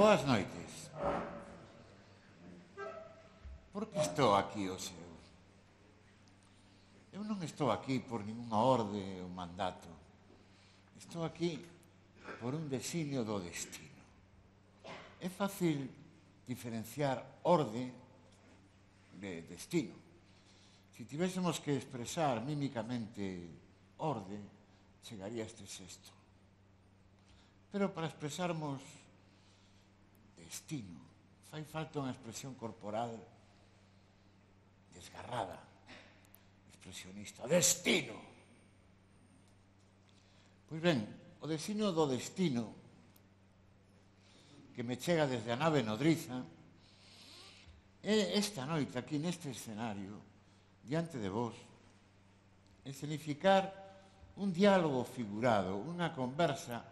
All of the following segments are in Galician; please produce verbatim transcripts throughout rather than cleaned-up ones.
Boas noites. Por que estou aquí hoxe? Eu non estou aquí por ninguna orde ou mandato. Estou aquí por un designio do destino. É fácil diferenciar orde de destino. Se tivésemos que expresar mímicamente orde, chegaría a este sexto. Pero para expresarmos destino, fai falta unha expresión corporal desgarrada, expresionista. Destino! Pois ben, o designio do destino que me chega desde a nave nodriza é esta noite aquí neste escenario diante de vos escenificar un diálogo figurado, unha conversa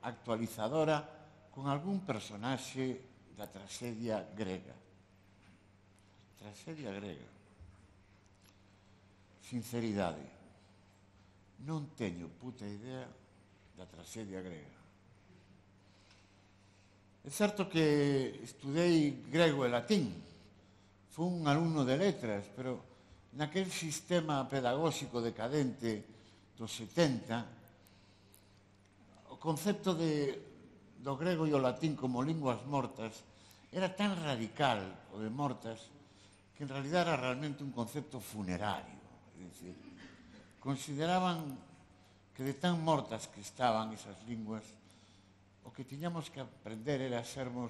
actualizadora con algún personaxe da tragedia grega. Tragedia grega. Sinceridade. Non teño puta idea da tragedia grega. É certo que estudei grego e latín. Fui un alumno de letras, pero naquel sistema pedagóxico decadente dos setenta, o concepto de, do grego e o latín como linguas mortas era tan radical, o de mortas, que en realidad era realmente un concepto funerario. É dicir, consideraban que de tan mortas que estaban esas linguas, o que tiñamos que aprender era sermos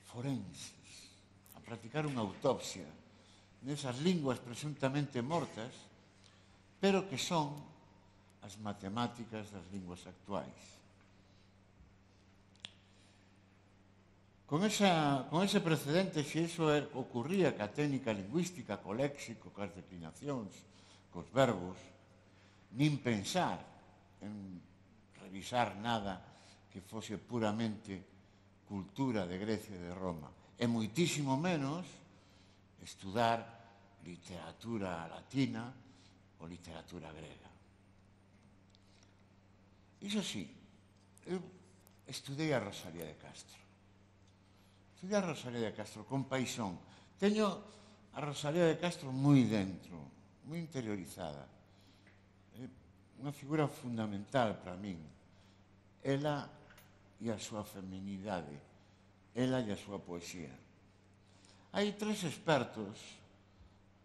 forenses, a practicar unha autopsia nesas linguas presuntamente mortas, pero que son as matemáticas das linguas actuais. Con, esa, con ese precedente, se iso ocurría ca técnica lingüística, co léxico, cas declinacións, cos verbos, nin pensar en revisar nada que fose puramente cultura de Grecia e de Roma, e moitísimo menos estudar literatura latina ou literatura grega. Iso sí, eu estudei a Rosalía de Castro. Estudei a Rosalía de Castro con paixón. Teño a Rosalía de Castro moi dentro, moi interiorizada. É unha figura fundamental para min. Ela e a súa feminidade, ela e a súa poesía. Hai tres expertos,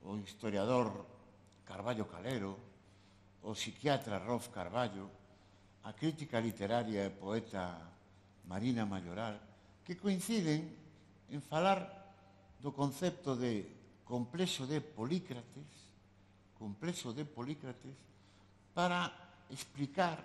o historiador Carballo Calero, o psiquiatra Rolf Carballo, a crítica literaria e poeta Marina Mayoral, que coinciden en falar do concepto de complexo de Polícrates, complexo de Polícrates, para explicar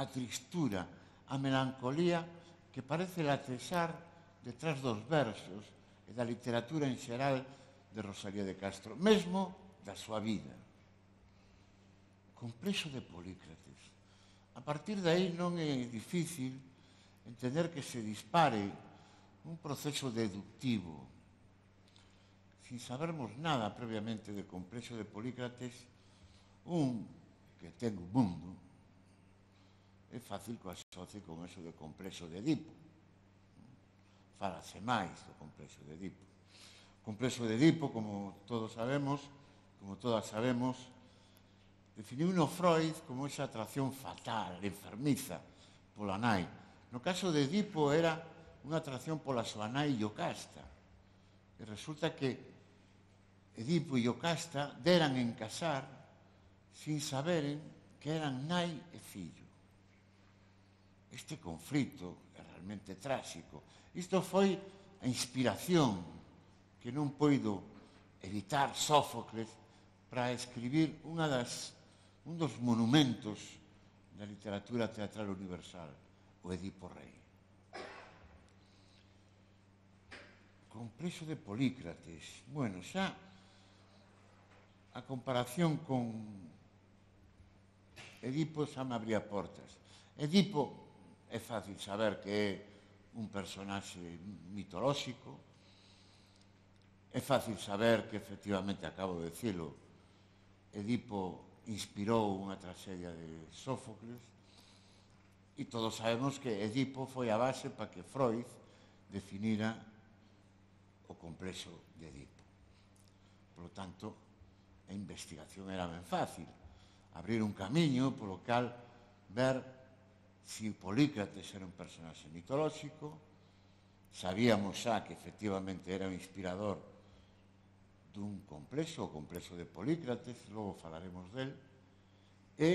a tristura, a melancolía que parece latexar detrás dos versos e da literatura en xeral de Rosalía de Castro, mesmo da súa vida. Complexo de Polícrates. A partir de aí non é difícil entender que se dispare un proceso deductivo. Sin sabermos nada previamente de Complexo de Polícrates, un que ten o mundo, é fácil que o asocie con eso de Complexo de Edipo. Fálase máis do Complexo de Edipo. O Complexo de Edipo, como todos sabemos, como todas sabemos, definiu-no Freud como esa atracción fatal, enfermiza, pola nai. No caso de Edipo era unha atracción pola súa nai Iocasta. E resulta que Edipo e Iocasta deran en casar sin saberen que eran nai e fillo. Este conflito é realmente tráxico. Isto foi a inspiración que non poido evitar Sófocles para escribir unha das, un dos monumentos da literatura teatral universal, o Edipo Rei. Complexo de Polícrates. Bueno, xa a comparación con Edipo xa me abría portas. Edipo é fácil saber que é un personaxe mitolóxico, é fácil saber que, efectivamente, acabo de dicilo, Edipo inspirou unha tragedia de Sófocles, E todos sabemos que Edipo foi a base para que Freud definira o complexo de Edipo. Por lo tanto, a investigación era ben fácil. Abrir un camiño polo cal ver se Polícrates era un personaxe mitolóxico. Sabíamos xa que efectivamente era o inspirador dun complexo, o complexo de Polícrates, logo falaremos del, e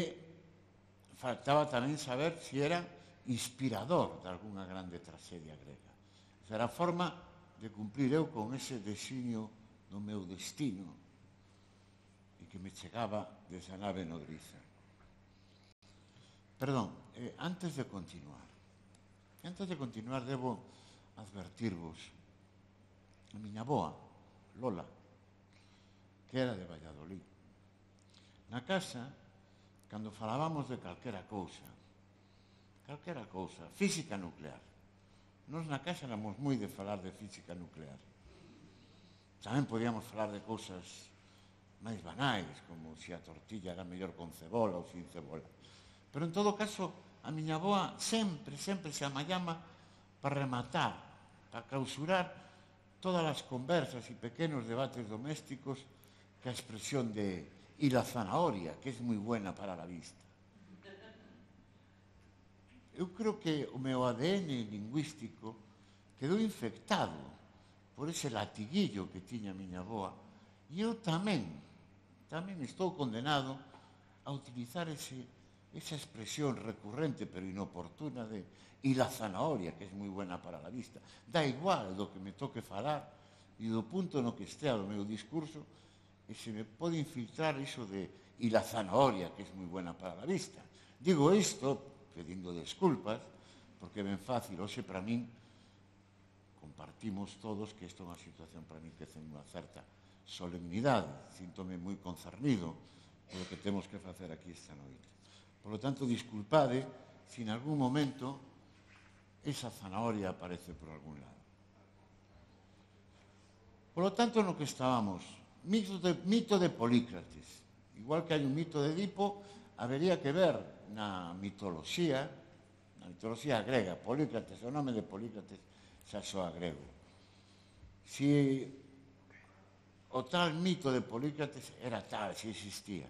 faltaba tamén saber se era inspirador de algunha grande tragedia grega. Esa era a forma de cumplir eu con ese designio do meu destino e que me chegaba desa nave nodriza. Perdón, eh, antes de continuar, antes de continuar debo advertirvos a miña boa, Lola, que era de Valladolid. Na casa, cando falábamos de calquera cousa, calquera cousa, física nuclear, nós na casa éramos moi de falar de física nuclear. Tamén podíamos falar de cousas máis banais, como se a tortilla era mellor con cebola ou sin cebola. Pero, en todo caso, a miña boa sempre, sempre se amallama para rematar, para clausurar todas as conversas e pequenos debates domésticos que a expresión de «y la zanahoria», que es moi buena para la vista. Eu creo que o meu A D N lingüístico quedou infectado por ese latiguillo que tiña a miña boa, e eu tamén, tamén estou condenado a utilizar ese, esa expresión recurrente pero inoportuna de «y la zanahoria», que es moi buena para la vista. Da igual do que me toque falar e do punto no que estea o meu discurso, e se me pode infiltrar iso de «y la zanahoria», que es moi buena para la vista. Digo isto pedindo desculpas, porque é ben fácil, hoxe para min compartimos todos que isto é unha situación para min que ten unha certa solemnidade, síntome moi concernido polo que temos que facer aquí esta noite. Por lo tanto, disculpade se en algún momento esa zanahoria aparece por algún lado. Por lo tanto, no que estábamos, mito de, mito de Polícrates. Igual que hai un mito de Edipo, habería que ver na mitoloxía, na mitoloxía grega, Polícrates, o nome de Polícrates xa soa grego. Si o tal mito de Polícrates era tal, si existía.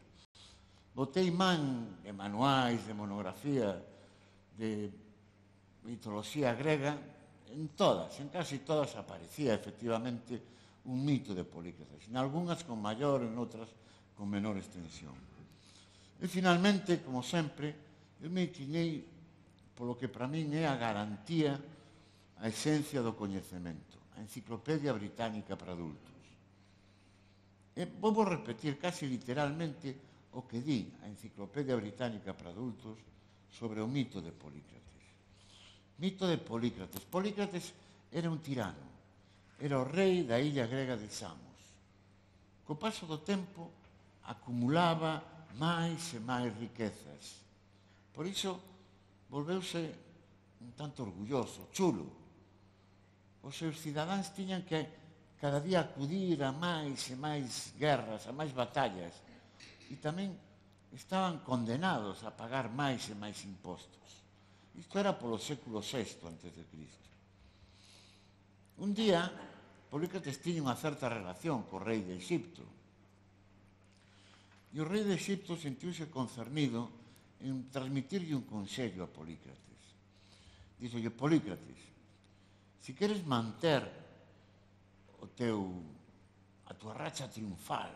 Botei man de manuais, de monografía, de mitoloxía grega, en todas, en casi todas aparecía efectivamente un mito de Polícrates, en algunhas con maior, en outras con menor extensión. E, finalmente, como sempre, eu me inclinei polo que para min é a garantía, a esencia do coñecemento, a Enciclopedia Británica para adultos. E vou repetir casi literalmente o que di a Enciclopedia Británica para adultos sobre o mito de Polícrates. Mito de Polícrates. Polícrates era un tirano, era o rei da illa grega de Samos. Co paso do tempo, acumulaba máis e máis riquezas. Por iso, volveuse un tanto orgulloso, chulo. Os seus cidadáns tiñan que cada día acudir a máis e máis guerras, a máis batallas, e tamén estaban condenados a pagar máis e máis impostos. Isto era polo século sexto antes de Cristo. Un día, Polícrates tiña unha certa relación co rei de Egipto. E o rei de Egipto sentiuse concernido en transmitirlle un consello a Polícrates. Díxolle: Polícrates, se queres manter o teu, a tua racha triunfal,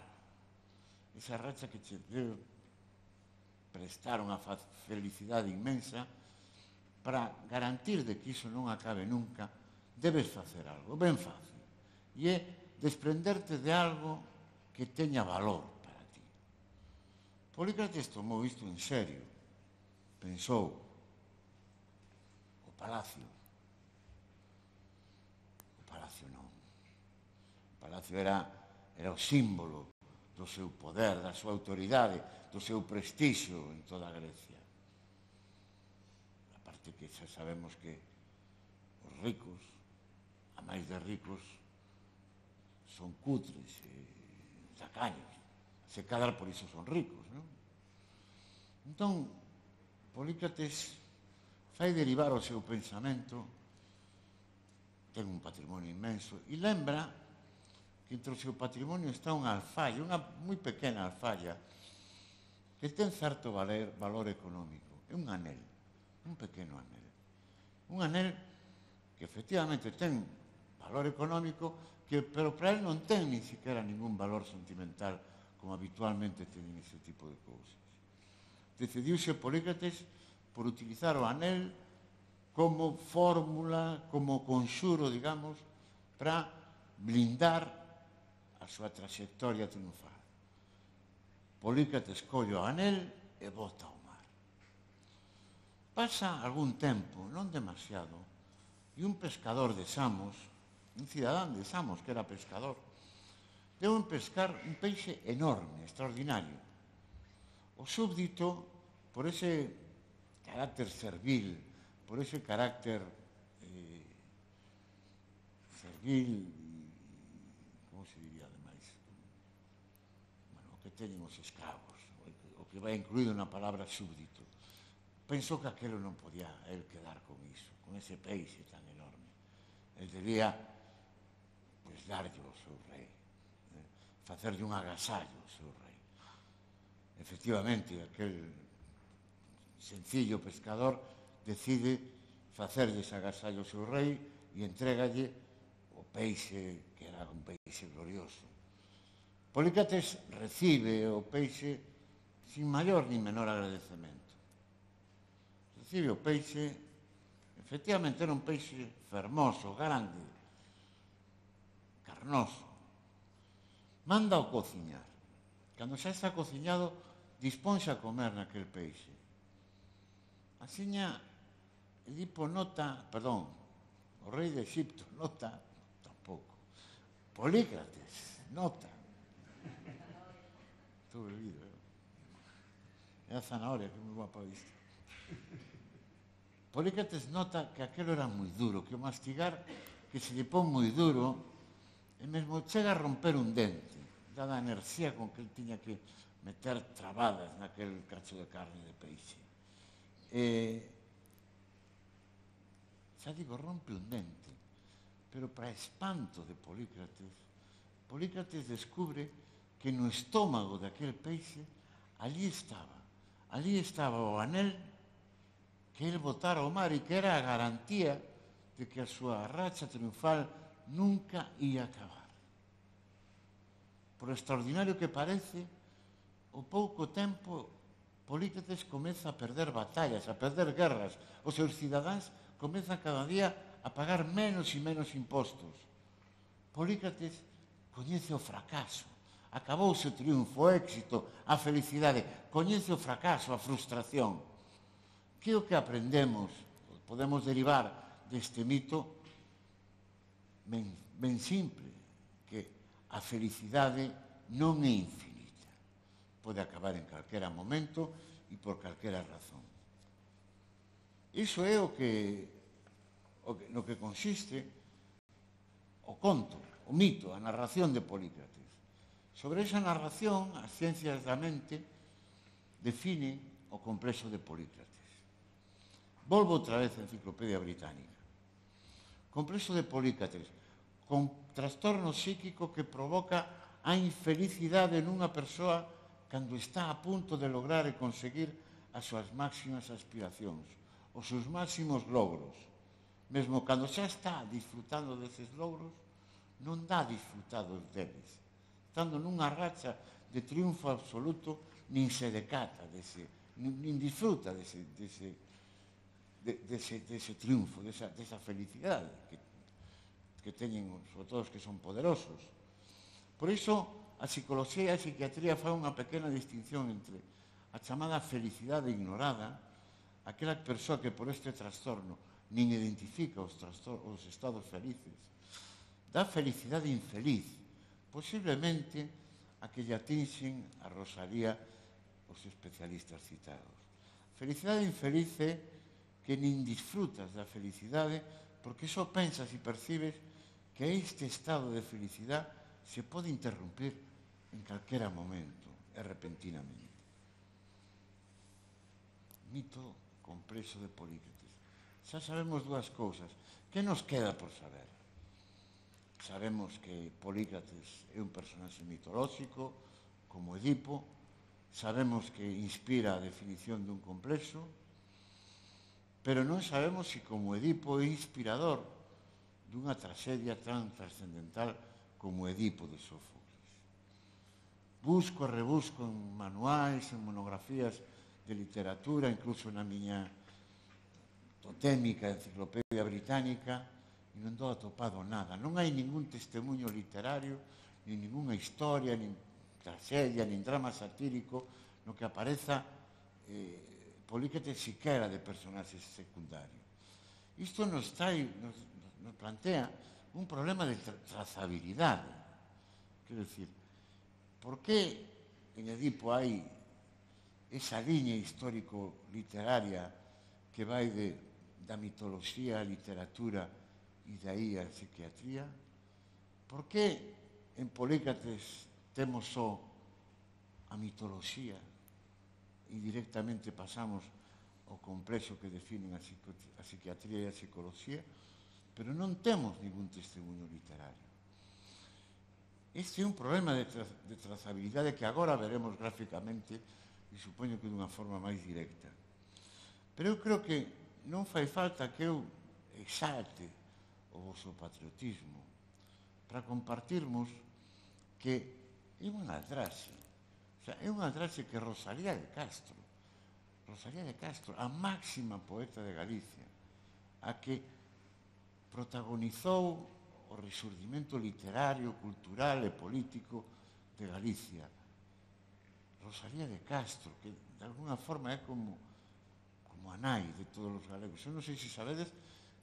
esa racha que che debe prestar unha felicidade inmensa, para garantir de que iso non acabe nunca, debes facer algo ben fácil, e é desprenderte de algo que teña valor para ti. Polícrates tomou isto en serio. Pensou: o palacio. O palacio non. O palacio era, era o símbolo do seu poder, da súa autoridade, do seu prestixio en toda a Grecia. A parte que xa sabemos que os ricos, a máis de ricos, son cutres e tacaños. Se cadra por iso son ricos, non? Entón, Polícrates fai derivar o seu pensamento, ten un patrimonio inmenso, e lembra que entre o seu patrimonio está unha alfalla, unha moi pequena alfalla, que ten certo valer, valor económico. É un anel, un pequeno anel. Un anel que efectivamente ten valor económico, que, pero para él non ten ni siquiera ningún valor sentimental, como habitualmente teñen ese tipo de cousas. Decidiuse Polícrates por utilizar o anel como fórmula, como conxuro, digamos, para blindar a súa trayectoria triunfal. Polícrates colle o anel e bota ao mar. Pasa algún tempo, non demasiado, e un pescador de Samos, un cidadán de Samos que era pescador, deu en pescar un peixe enorme, extraordinario. O súbdito, por ese carácter servil, por ese carácter eh, servil, como se diría ademais, bueno, o que teñen os escravos, o que vai incluído na palabra súbdito, pensou que aquelo non podía el quedar con iso, con ese peixe tan enorme. El debía, pues, darlle ao seu rei, eh, facerlle un agasallo ao seu rei. Efectivamente, aquel sencillo pescador decide facerlle ese agasallo ao seu rei e entrégalle o peixe, que era un peixe glorioso. Polícrates recibe o peixe sin maior ni menor agradecemento. Recibe o peixe, efectivamente era un peixe fermoso, grande, carnoso. Manda o cociñar. Cando xa está cociñado, disponse a comer naquel peixe. Asiña, Edipo nota, perdón, o rei de Egipto nota, tampouco, Polícrates nota. Estou bebido, eh? É a zanahoria que me va para vista. Polícrates nota que aquelo era moi duro, que o mastigar, que se lle pon moi duro, e mesmo chega a romper un dente, dada a enerxía con que el tiña que meter trabadas naquel cacho de carne de peixe. E, xa digo, rompe un dente, pero para espanto de Polícrates, Polícrates descubre que no estómago daquel peixe allí estaba, allí estaba o anel que el botara ao mar e que era a garantía de que a súa racha triunfal nunca ia acabar. Por extraordinario que parece, ao pouco tempo Polícrates comeza a perder batallas, a perder guerras. Os seus cidadáns comezan cada día a pagar menos e menos impostos. Polícrates coñece o fracaso, acabouse o triunfo, o éxito, a felicidade, coñece o fracaso, a frustración. Que é o que aprendemos, podemos derivar deste mito ben, ben simple, que a felicidade non é infinita. Pode acabar en calquera momento e por calquera razón. Iso é o que, o que no que consiste o conto, o mito, a narración de Polícrates. Sobre esa narración, as ciencias da mente definen o complexo de Polícrates. Volvo outra vez a Enciclopedia Británica. Complexo de Polícrates, con trastorno psíquico que provoca a infelicidade nunha persoa cando está a punto de lograr e conseguir as súas máximas aspiracións, os seus máximos logros. Mesmo cando xa está disfrutando deses logros, non dá disfrutados deles. Estando nunha racha de triunfo absoluto, nin se decata dese, nin, nin disfruta dese, dese, de, dese, dese triunfo, desa, desa felicidade que, que teñen, sobre todo os que son poderosos. Por iso, a psicología e a psiquiatría fan unha pequena distinción entre a chamada felicidade ignorada, aquela persoa que por este trastorno nin identifica os, os estados felices, da felicidade infeliz, posiblemente a que lle atinxen a Rosalía os especialistas citados. Felicidade infeliz é que nin disfrutas da felicidade porque só pensas e percibes que este estado de felicidade se pode interrumpir en calquera momento e repentinamente. Mito complexo de Polícrates. xa sabemos dúas cousas. Que nos queda por saber? Sabemos que Polícrates é un personaxe mitolóxico, como Edipo. Sabemos que inspira a definición dun complexo, pero non sabemos se como Edipo é inspirador dunha tragedia tan trascendental como Edipo de Sófocles. Busco e rebusco en manuais, en monografías de literatura, incluso na miña totémica enciclopedia británica, e non dou atopado nada. Non hai ningún testemunho literario, nin ninguna historia, nin tragedia, nin drama satírico no que apareza eh, Polícrates siquera de personaxes secundarios. Isto nos, trae, nos, nos plantea un problema de tra trazabilidade. Quero dicir, por que en Edipo hai esa liña histórico-literaria que vai de, da mitoloxía á literatura e de aí á psiquiatría? Por que en Polícrates temos só a mitoloxía e directamente pasamos ao complexo que definen a, a psiquiatría e a psicoloxía, pero non temos ningún testemunho literario? Este é un problema de, tra de trazabilidade que agora veremos gráficamente e supoño que dunha forma máis directa. Pero eu creo que non fai falta que eu exalte o vosso patriotismo para compartirmos que é unha aldraxe. O sea, é unha aldraxe que Rosalía de Castro, Rosalía de Castro, a máxima poeta de Galicia, a que protagonizou o resurdimento literario, cultural e político de Galicia. Rosalía de Castro, que de alguna forma é como, como a nai de todos os galegos. Eu non sei se sabedes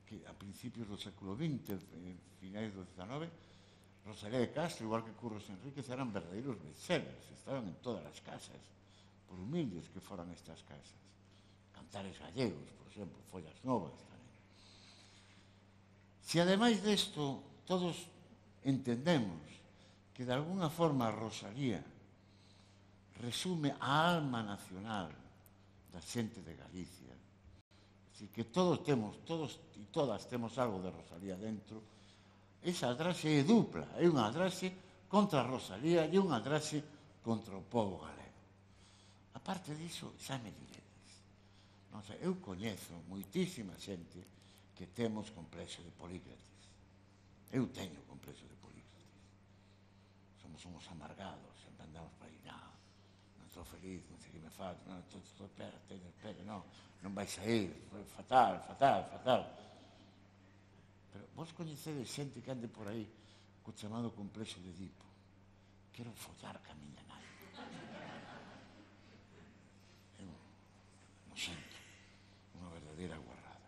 que a principios do século vinte, en finais do diecinueve, Rosalía de Castro, igual que Curros Enríquez, eran verdadeiros bestsellers, estaban en todas as casas, por humildes que foran estas casas. Cantares gallegos, por exemplo, Follas Novas tamén. Se ademais desto todos entendemos que de alguna forma Rosalía resume a alma nacional da xente de Galicia, así que todos temos, todos e todas temos algo de Rosalía dentro, esa aldraxe é dupla, é unha aldraxe contra Rosalía e unha aldraxe contra o povo galego. A parte diso, xa me diredes. Non sei, eu coñezo moitísima xente que temos complexo de Polícrates. Eu teño complexo de Polícrates. Somos uns amargados, sempre andamos para aí, non, non estou feliz, non sei que me falta, non, estou, estou, espera, espera, espera, non, non vais a ir, fatal, fatal, fatal. Pero vos coñecedes xente que ande por aí co chamado complexo de Edipo. Quero follar ca miña nai. Eu non sinto, unha verdadeira guarrada.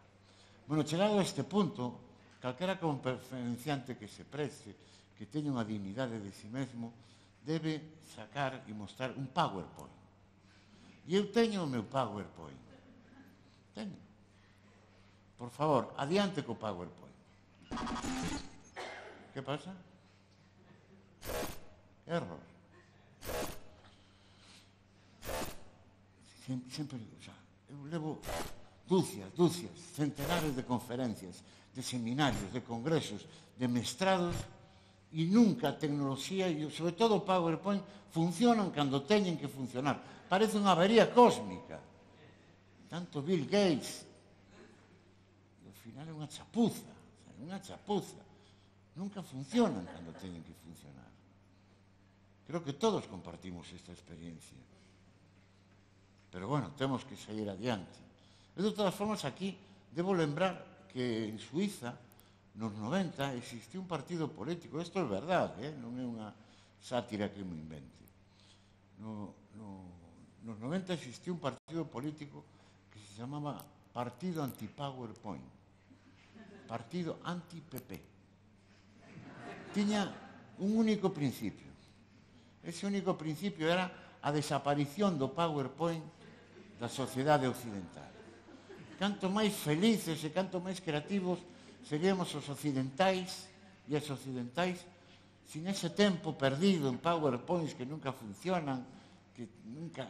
Bueno, chegado a este punto, calquera conferenciante que se preste, que teña unha dignidade de si mesmo, debe sacar e mostrar un PowerPoint. E eu teño o meu PowerPoint. Teño. Por favor, adiante co PowerPoint. Que pasa? Error. Sempre, sempre, o sea, eu levo dúcias, dúcias, centenares de conferencias, de seminarios, de congresos, de mestrados, e nunca a tecnoloxía e, sobre todo, o PowerPoint funcionan cando teñen que funcionar. Parece unha avería cósmica. Tanto Bill Gates, e ao final é unha chapuza, é unha chapuza. Nunca funcionan cando teñen que funcionar. Creo que todos compartimos esta experiencia. Pero, bueno, temos que seguir adiante. E, de todas formas, aquí debo lembrar que en Suiza, nos noventa, existiu un partido político. Isto é verdade, eh? Non é unha sátira que me invente. No, no, nos noventa existiu un partido político que se chamaba Partido Anti-PowerPoint. Partido anti-P P. Tiña un único principio. Ese único principio era a desaparición do PowerPoint da sociedade occidental. Canto máis felices e canto máis creativos seríamos os occidentais e as occidentais sin ese tempo perdido en PowerPoints que nunca funcionan, que nunca,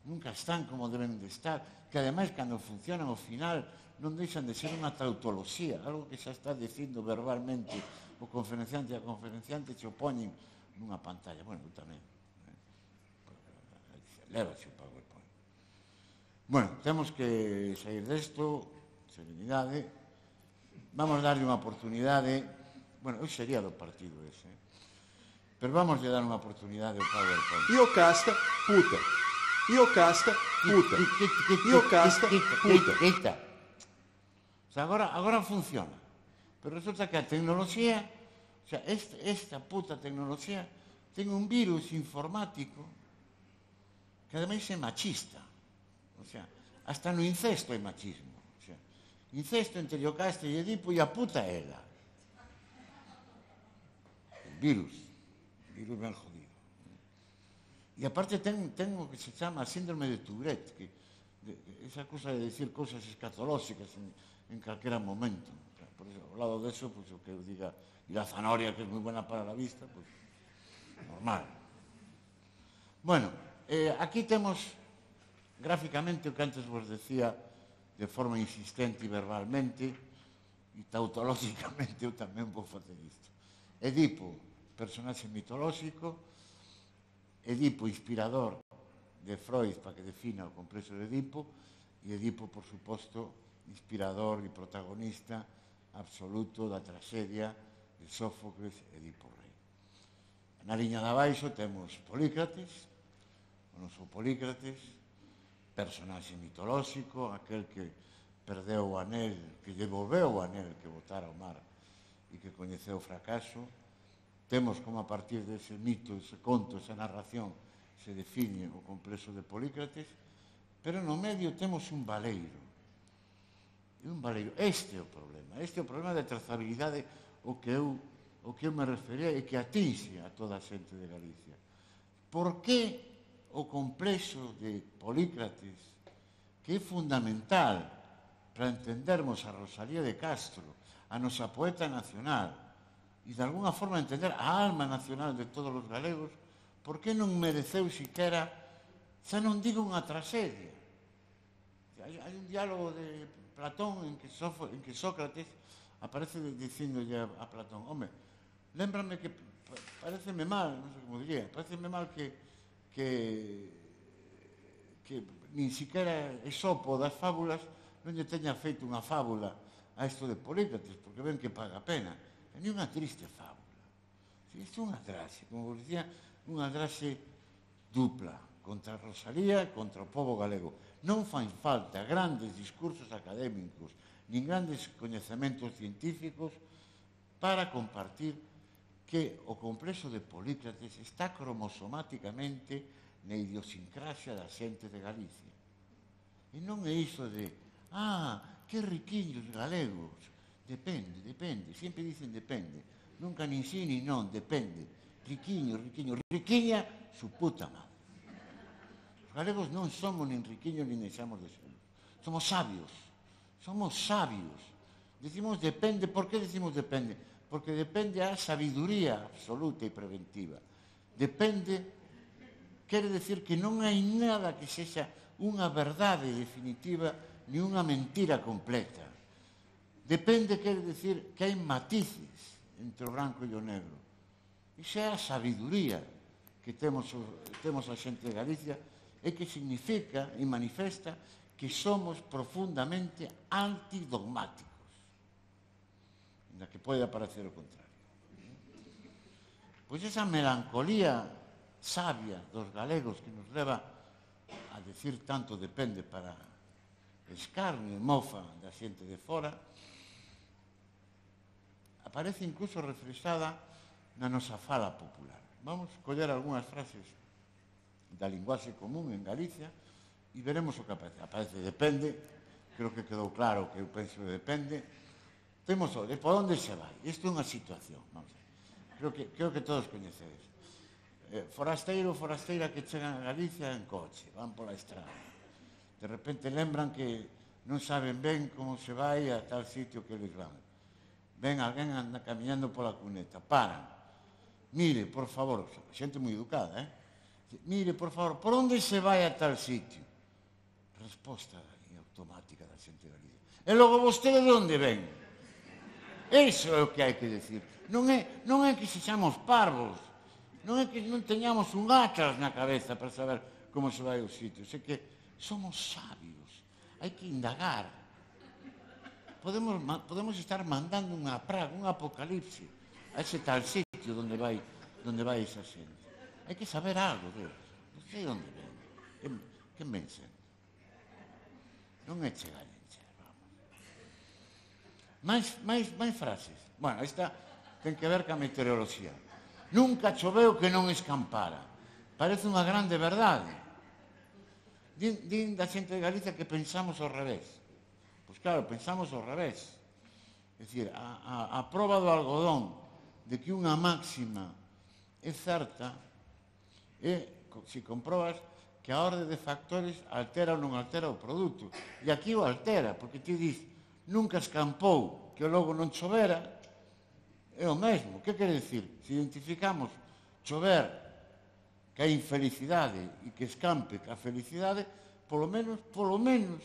nunca están como deben de estar, que ademais cando funcionan ao final non deixan de ser unha tautoloxía, algo que xa está dicindo verbalmente o conferenciante e a conferenciante se opoñen nunha pantalla. Bueno, eu tamén. Lévase o PowerPoint. Bueno, temos que sair desto, serenidade. Vamos darlle unha oportunidade. Bueno, eu sería do partido ese. Pero vamos a dar unha oportunidade ao PowerPoint. Io casta, puta. Io casta, puta. Io casta, puta. Quita. O sea, agora, agora funciona. Pero resulta que a tecnoloxía, o sea, esta, esta puta tecnoloxía ten un virus informático que ademais é machista. O sea, hasta no incesto é machismo. O sea, incesto entre Iocasta e Edipo e a puta ela. El virus. El virus ben jodido. E aparte ten, ten o que se chama síndrome de Tourette, que de, esa cosa de decir cosas escatolóxicas en, en calquera momento. O sea, por eso, ao lado de eso, pues, o que eu diga, e la zanahoria, que é moi buena para la vista, pues, normal. Bueno, Eh, aquí temos gráficamente o que antes vos decía de forma insistente e verbalmente e tautológicamente eu tamén vou facer isto. Edipo, personaxe mitolóxico, Edipo, inspirador de Freud para que defina o complexo de Edipo, e Edipo, por suposto, inspirador e protagonista absoluto da tragedia de Sófocles, Edipo Rei. Na liña de abaixo temos Polícrates, o noso Polícrates, personaxe mitolóxico, aquel que perdeu o anel, que devolveu o anel que botara ao mar e que coñeceu o fracaso. Temos como a partir dese mito, ese conto, esa narración, se define o complexo de Polícrates, pero no medio temos un baleiro. E un baleiro. Este é o problema. Este é o problema de trazabilidade o que eu, o que eu me refería e que atinxe a toda a xente de Galicia. Por que o complexo de Polícrates, que é fundamental para entendermos a Rosalía de Castro, a nosa poeta nacional, e de alguna forma entender a alma nacional de todos os galegos, por que non mereceu siquera, xa non digo unha tragedia. Hai, hai un diálogo de Platón en que, Sófo, en que Sócrates aparece dicindolle a, a Platón, home, lémbrame que pareceme mal, non sei como diría, pareceme mal que que, que nin siquiera Esopo das fábulas non lle teña feito unha fábula a isto de Polícrates, porque ven que paga a pena. É ni unha triste fábula. Isto é unha draxe, como vos dicía, unha draxe dupla contra a Rosalía e contra o povo galego. Non fan falta grandes discursos académicos nin grandes coñecementos científicos para compartir que o complexo de Polícrates está cromosomáticamente na idiosincrasia da xente de Galicia. E non é iso de, ah, que riquiños galegos. Depende, depende, sempre dicen depende. Nunca nin sí nin non, depende. Riquiño, riquiño, riquiña, su puta madre. Os galegos non somos nin riquiños nin deixamos de ser. Somos sabios, somos sabios. Decimos depende, por que decimos depende? Porque depende a sabiduría absoluta e preventiva. Depende, quere decir que non hai nada que sexa unha verdade definitiva ni unha mentira completa. Depende, quere decir que hai matices entre o branco e o negro. Iso é a sabiduría que temos, temos a xente de Galicia e que significa e manifesta que somos profundamente antidogmáticos. Na que pode aparecer o contrario. Pois esa melancolía sabia dos galegos que nos leva a decir tanto depende para escarnio e mofa da xente de fora, aparece incluso reflexada na nosa fala popular. Vamos coller algunhas frases da linguaxe común en Galicia e veremos o que aparece. Aparece depende, creo que quedou claro que eu penso que depende. Temos o de por onde se vai. Isto é unha situación. Vamos a ver. Creo que, creo que todos coñecedes. Eh, forasteiro, forasteira que chegan a Galicia en coche, van pola estrada. De repente lembran que non saben ben como se vai a tal sitio que eles van. Ven alguén anda camiñando pola cuneta, paran. Mire, por favor, xente moi educada, eh? Mire, por favor, por onde se vai a tal sitio? Resposta automática da xente de Galicia. E logo vostede de onde ven? Iso é o que hai que decir. Non é, non é que sexamos parvos, non é que non teñamos un atlas na cabeza para saber como se vai aos sitios, é que somos sabios, hai que indagar. Podemos, podemos estar mandando unha praga, un apocalipse a ese tal sitio onde vai, onde vai esa xente. Hai que saber algo deles. Non sei onde ven. Que, que ven sendo? Non é chegar en chegar, vamos. Mais, máis, máis frases. Bueno, esta ten que ver ca meteoroloxía. Nunca choveu que non escampara. Parece unha grande verdade. Din, din da xente de Galicia que pensamos ao revés. Pois claro, pensamos ao revés. É dicir, a, a, a proba do algodón de que unha máxima é certa é, se comprobas, que a orde de factores altera ou non altera o produto. E aquí o altera, porque ti dis, nunca escampou que logo non chovera, é o mesmo. Que quere dicir? Se identificamos chover que hai infelicidade e que escampe que a felicidade, polo menos, polo menos,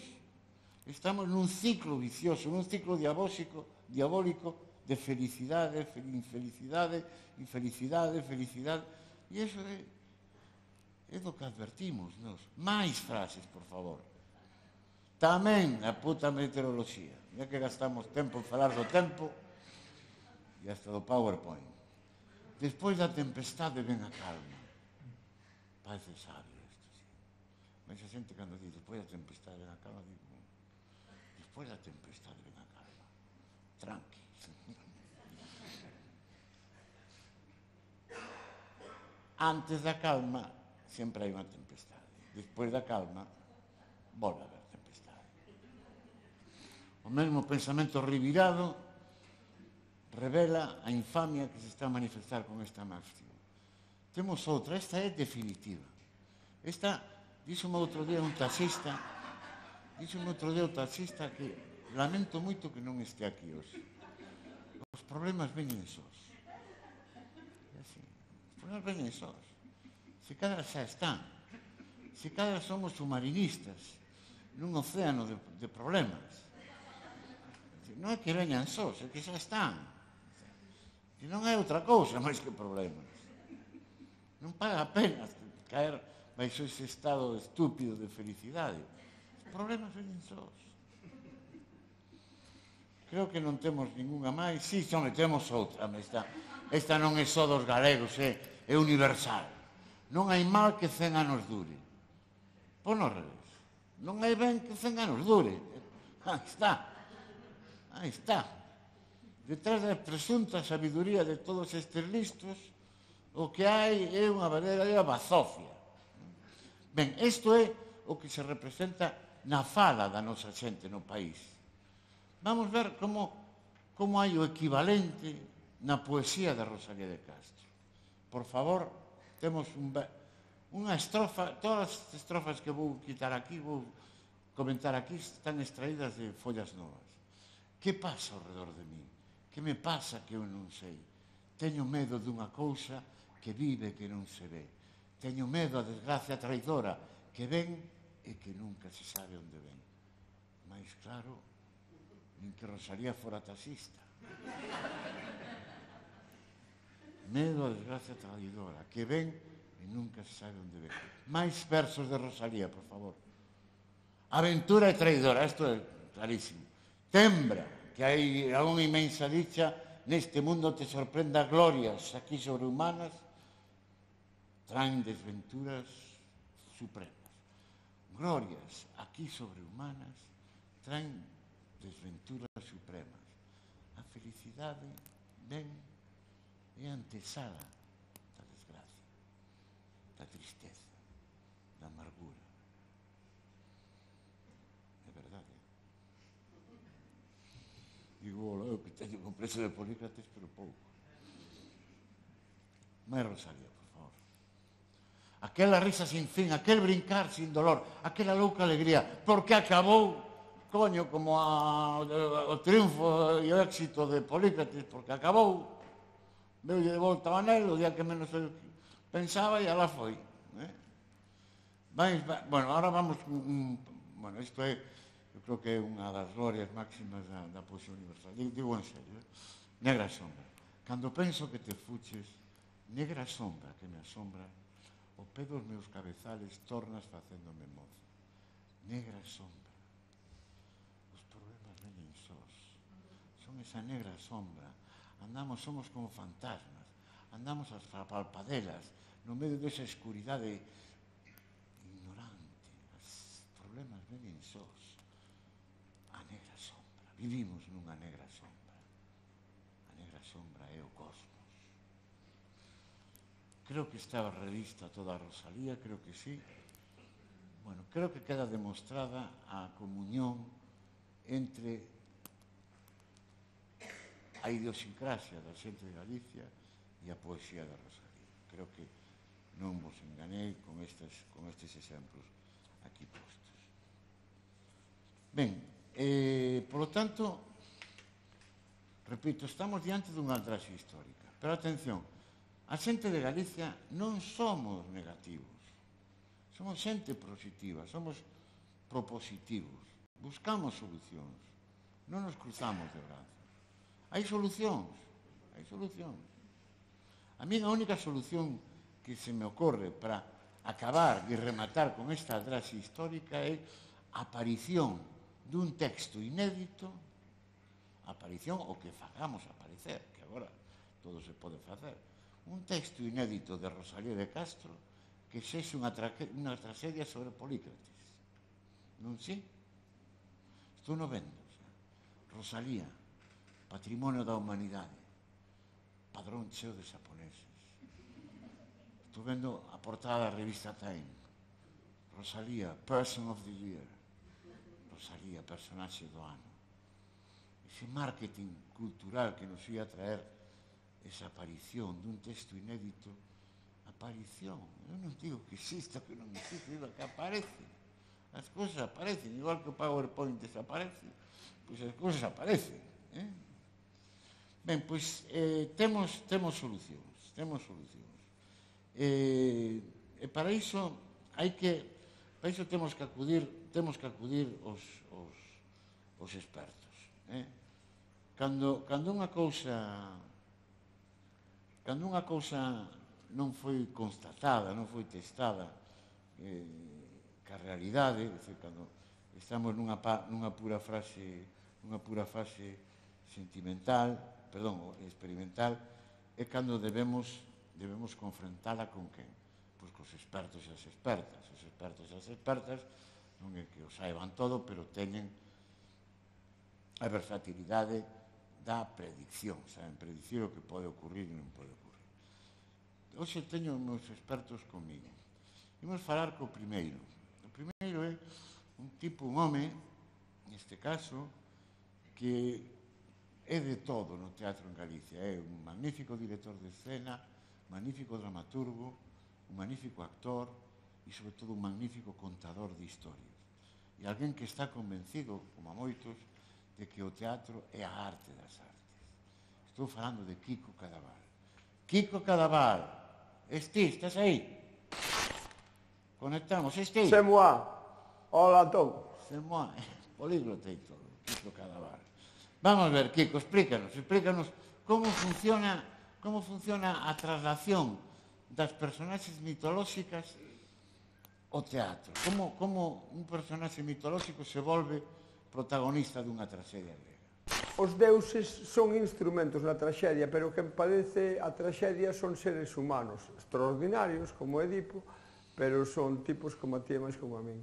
estamos nun ciclo vicioso, nun ciclo diabólico, diabólico de felicidade, infelicidade, infelicidade, felicidade. E iso é, é do que advertimos nos. Mais frases, por favor. Tamén a puta meteoroloxía. Ya que gastamos tempo en falar do tempo e hasta do PowerPoint. Despois da tempestade ven a calma. Parece sabio isto, sí. Mas a xente cando dice despois da tempestade ven a calma, digo, despois da tempestade ven a calma. Tranqui. Antes da calma sempre hai unha tempestade. Despois da calma volve a haber tempestade. O mesmo pensamento revirado revela a infamia que se está a manifestar con esta máxima. Temos outra, esta é definitiva. Esta, díxome outro día un taxista, díxome outro día un taxista que lamento moito que non este aquí hoxe. Os problemas veñen sós. É así, os problemas veñen sós. Se cada xa están, se cada somos submarinistas nun océano de, de problemas. Non é que veñan sós, é que xa están. Que non é outra cousa máis que problemas. Non paga a pena caer baixo ese estado estúpido de felicidade. Os problemas veñen sós. Creo que non temos ninguna máis. Si, sí, xome, temos outra. Esta, esta non é só dos galegos, é, é universal. Non hai mal que cen anos dure. Pois non revés. Non hai ben que cen anos dure. Aí está. Aí está. Detrás da presunta sabiduría de todos estes listos, o que hai é unha verdadeira bazofia. Ben, isto é o que se representa na fala da nosa xente no país. Vamos ver como, como hai o equivalente na poesía de Rosalía de Castro. Por favor, temos un, unha estrofa, todas as estrofas que vou quitar aquí, vou comentar aquí, están extraídas de Follas Novas. Que pasa ao redor de mí? Que me pasa que eu non sei? Teño medo dunha cousa que vive e que non se ve. Teño medo a desgracia traidora que ven e que nunca se sabe onde ven. Mais claro, nin que Rosalía fora taxista. Medo a desgracia traidora que ven e nunca se sabe onde ven. Mais versos de Rosalía, por favor. Aventura e traidora, isto é clarísimo. Tembra, que hai unha inmensa dicha neste mundo te sorprenda glorias aquí sobrehumanas, traen desventuras supremas. Glorias aquí sobrehumanas traen desventuras supremas. A felicidade ven e antesala da desgracia, da tristeza, da amargura. É verdade. Digo, eu que teño complexo de Polícrates, pero pouco. Mais Rosalía, por favor. Aquela risa sin fin, aquel brincar sin dolor, aquela louca alegría, porque acabou, coño, como a, o triunfo e o éxito de Polícrates, porque acabou, veulle de volta ao anel, o día que menos eu pensaba, e alá foi. Eh? Vais, bueno, ahora vamos, mm, bueno, isto é eu creo que é unha das glorias máximas da, da poesía universal. Digo, digo en serio, eh? Negra sombra. Cando penso que te fuches, negra sombra que me asombra, o pé dos meus cabezales tornas facéndome mozo. Negra sombra. Os problemas veñen sós. Son esa negra sombra. Andamos, somos como fantasmas. Andamos as palpadelas no medio desa escuridade ignorante. Os problemas veñen sós. A negra sombra. Vivimos nunha negra sombra. A negra sombra é o cosmos. Creo que estaba revista toda a Rosalía, creo que sí. Bueno, creo que queda demostrada a comunión entre a idiosincrasia da xente de Galicia e a poesía da Rosalía. Creo que non vos enganei con estes, con estes exemplos aquí postos. Ben, eh, polo tanto, repito, estamos diante dunha atraxe histórica. Pero atención, a xente de Galicia non somos negativos. Somos xente positiva, somos propositivos. Buscamos solucións. Non nos cruzamos de brazos. Hai solucións. Hai solucións. A mí a única solución que se me ocorre para acabar e rematar con esta atraxe histórica é a aparición dun texto inédito, aparición o que fagamos aparecer, que agora todo se pode facer, un texto inédito de Rosalía de Castro que sexe unha, unha tragedia sobre Polícrates. Non si? Estou no vendo. Rosalía, patrimonio da humanidade, padrón cheo de xaponeses. Estou vendo a portada da revista Time. Rosalía, Person of the Year. Rosalía, personaxe do ano. Ese marketing cultural que nos ia traer esa aparición dun texto inédito, aparición, eu non digo que exista, que non existe, digo que aparece. As cousas aparecen, igual que o PowerPoint desaparece, pois as cousas aparecen. Eh? Ben, pois eh, temos, temos solucións, temos solucións. Eh, e para iso hai que, para iso temos que acudir, temos que acudir os, os, os expertos. Eh? Cando, cando unha cousa Cando unha cousa non foi constatada, non foi testada eh, ca realidade, decir, cando estamos nunha, pa, nunha pura frase, nunha pura fase sentimental, perdón, experimental, é cando debemos, debemos confrontala con quen? Pois cos expertos e as expertas. Os expertos e as expertas non é que o saiban todo, pero teñen a versatilidade da predicción, saben, predicir o que pode ocurrir e non pode ocurrir. Hoxe teño os meus expertos comigo. Imos falar co primeiro. O primeiro é un tipo, un home, neste caso, que é de todo no teatro en Galicia. É un magnífico director de escena, magnífico dramaturgo, un magnífico actor e, sobre todo, un magnífico contador de historias. E alguén que está convencido, como a moitos, de que o teatro é a arte das artes. Estou falando de Quico Cadaval. Quico Cadaval, esti, estás aí? Conectamos, esti? C'est moi. Hola, Tom. C'est moi. Políglota e todo, Quico Cadaval. Vamos ver, Quico, explícanos, explícanos como funciona, como funciona a traslación das personaxes mitolóxicas ao teatro. Como, como un personaxe mitolóxico se volve protagonista dunha traxedia grega. Os deuses son instrumentos na traxedia, pero quen padece a traxedia son seres humanos, extraordinarios, como Edipo, pero son tipos como a ti e máis como a min.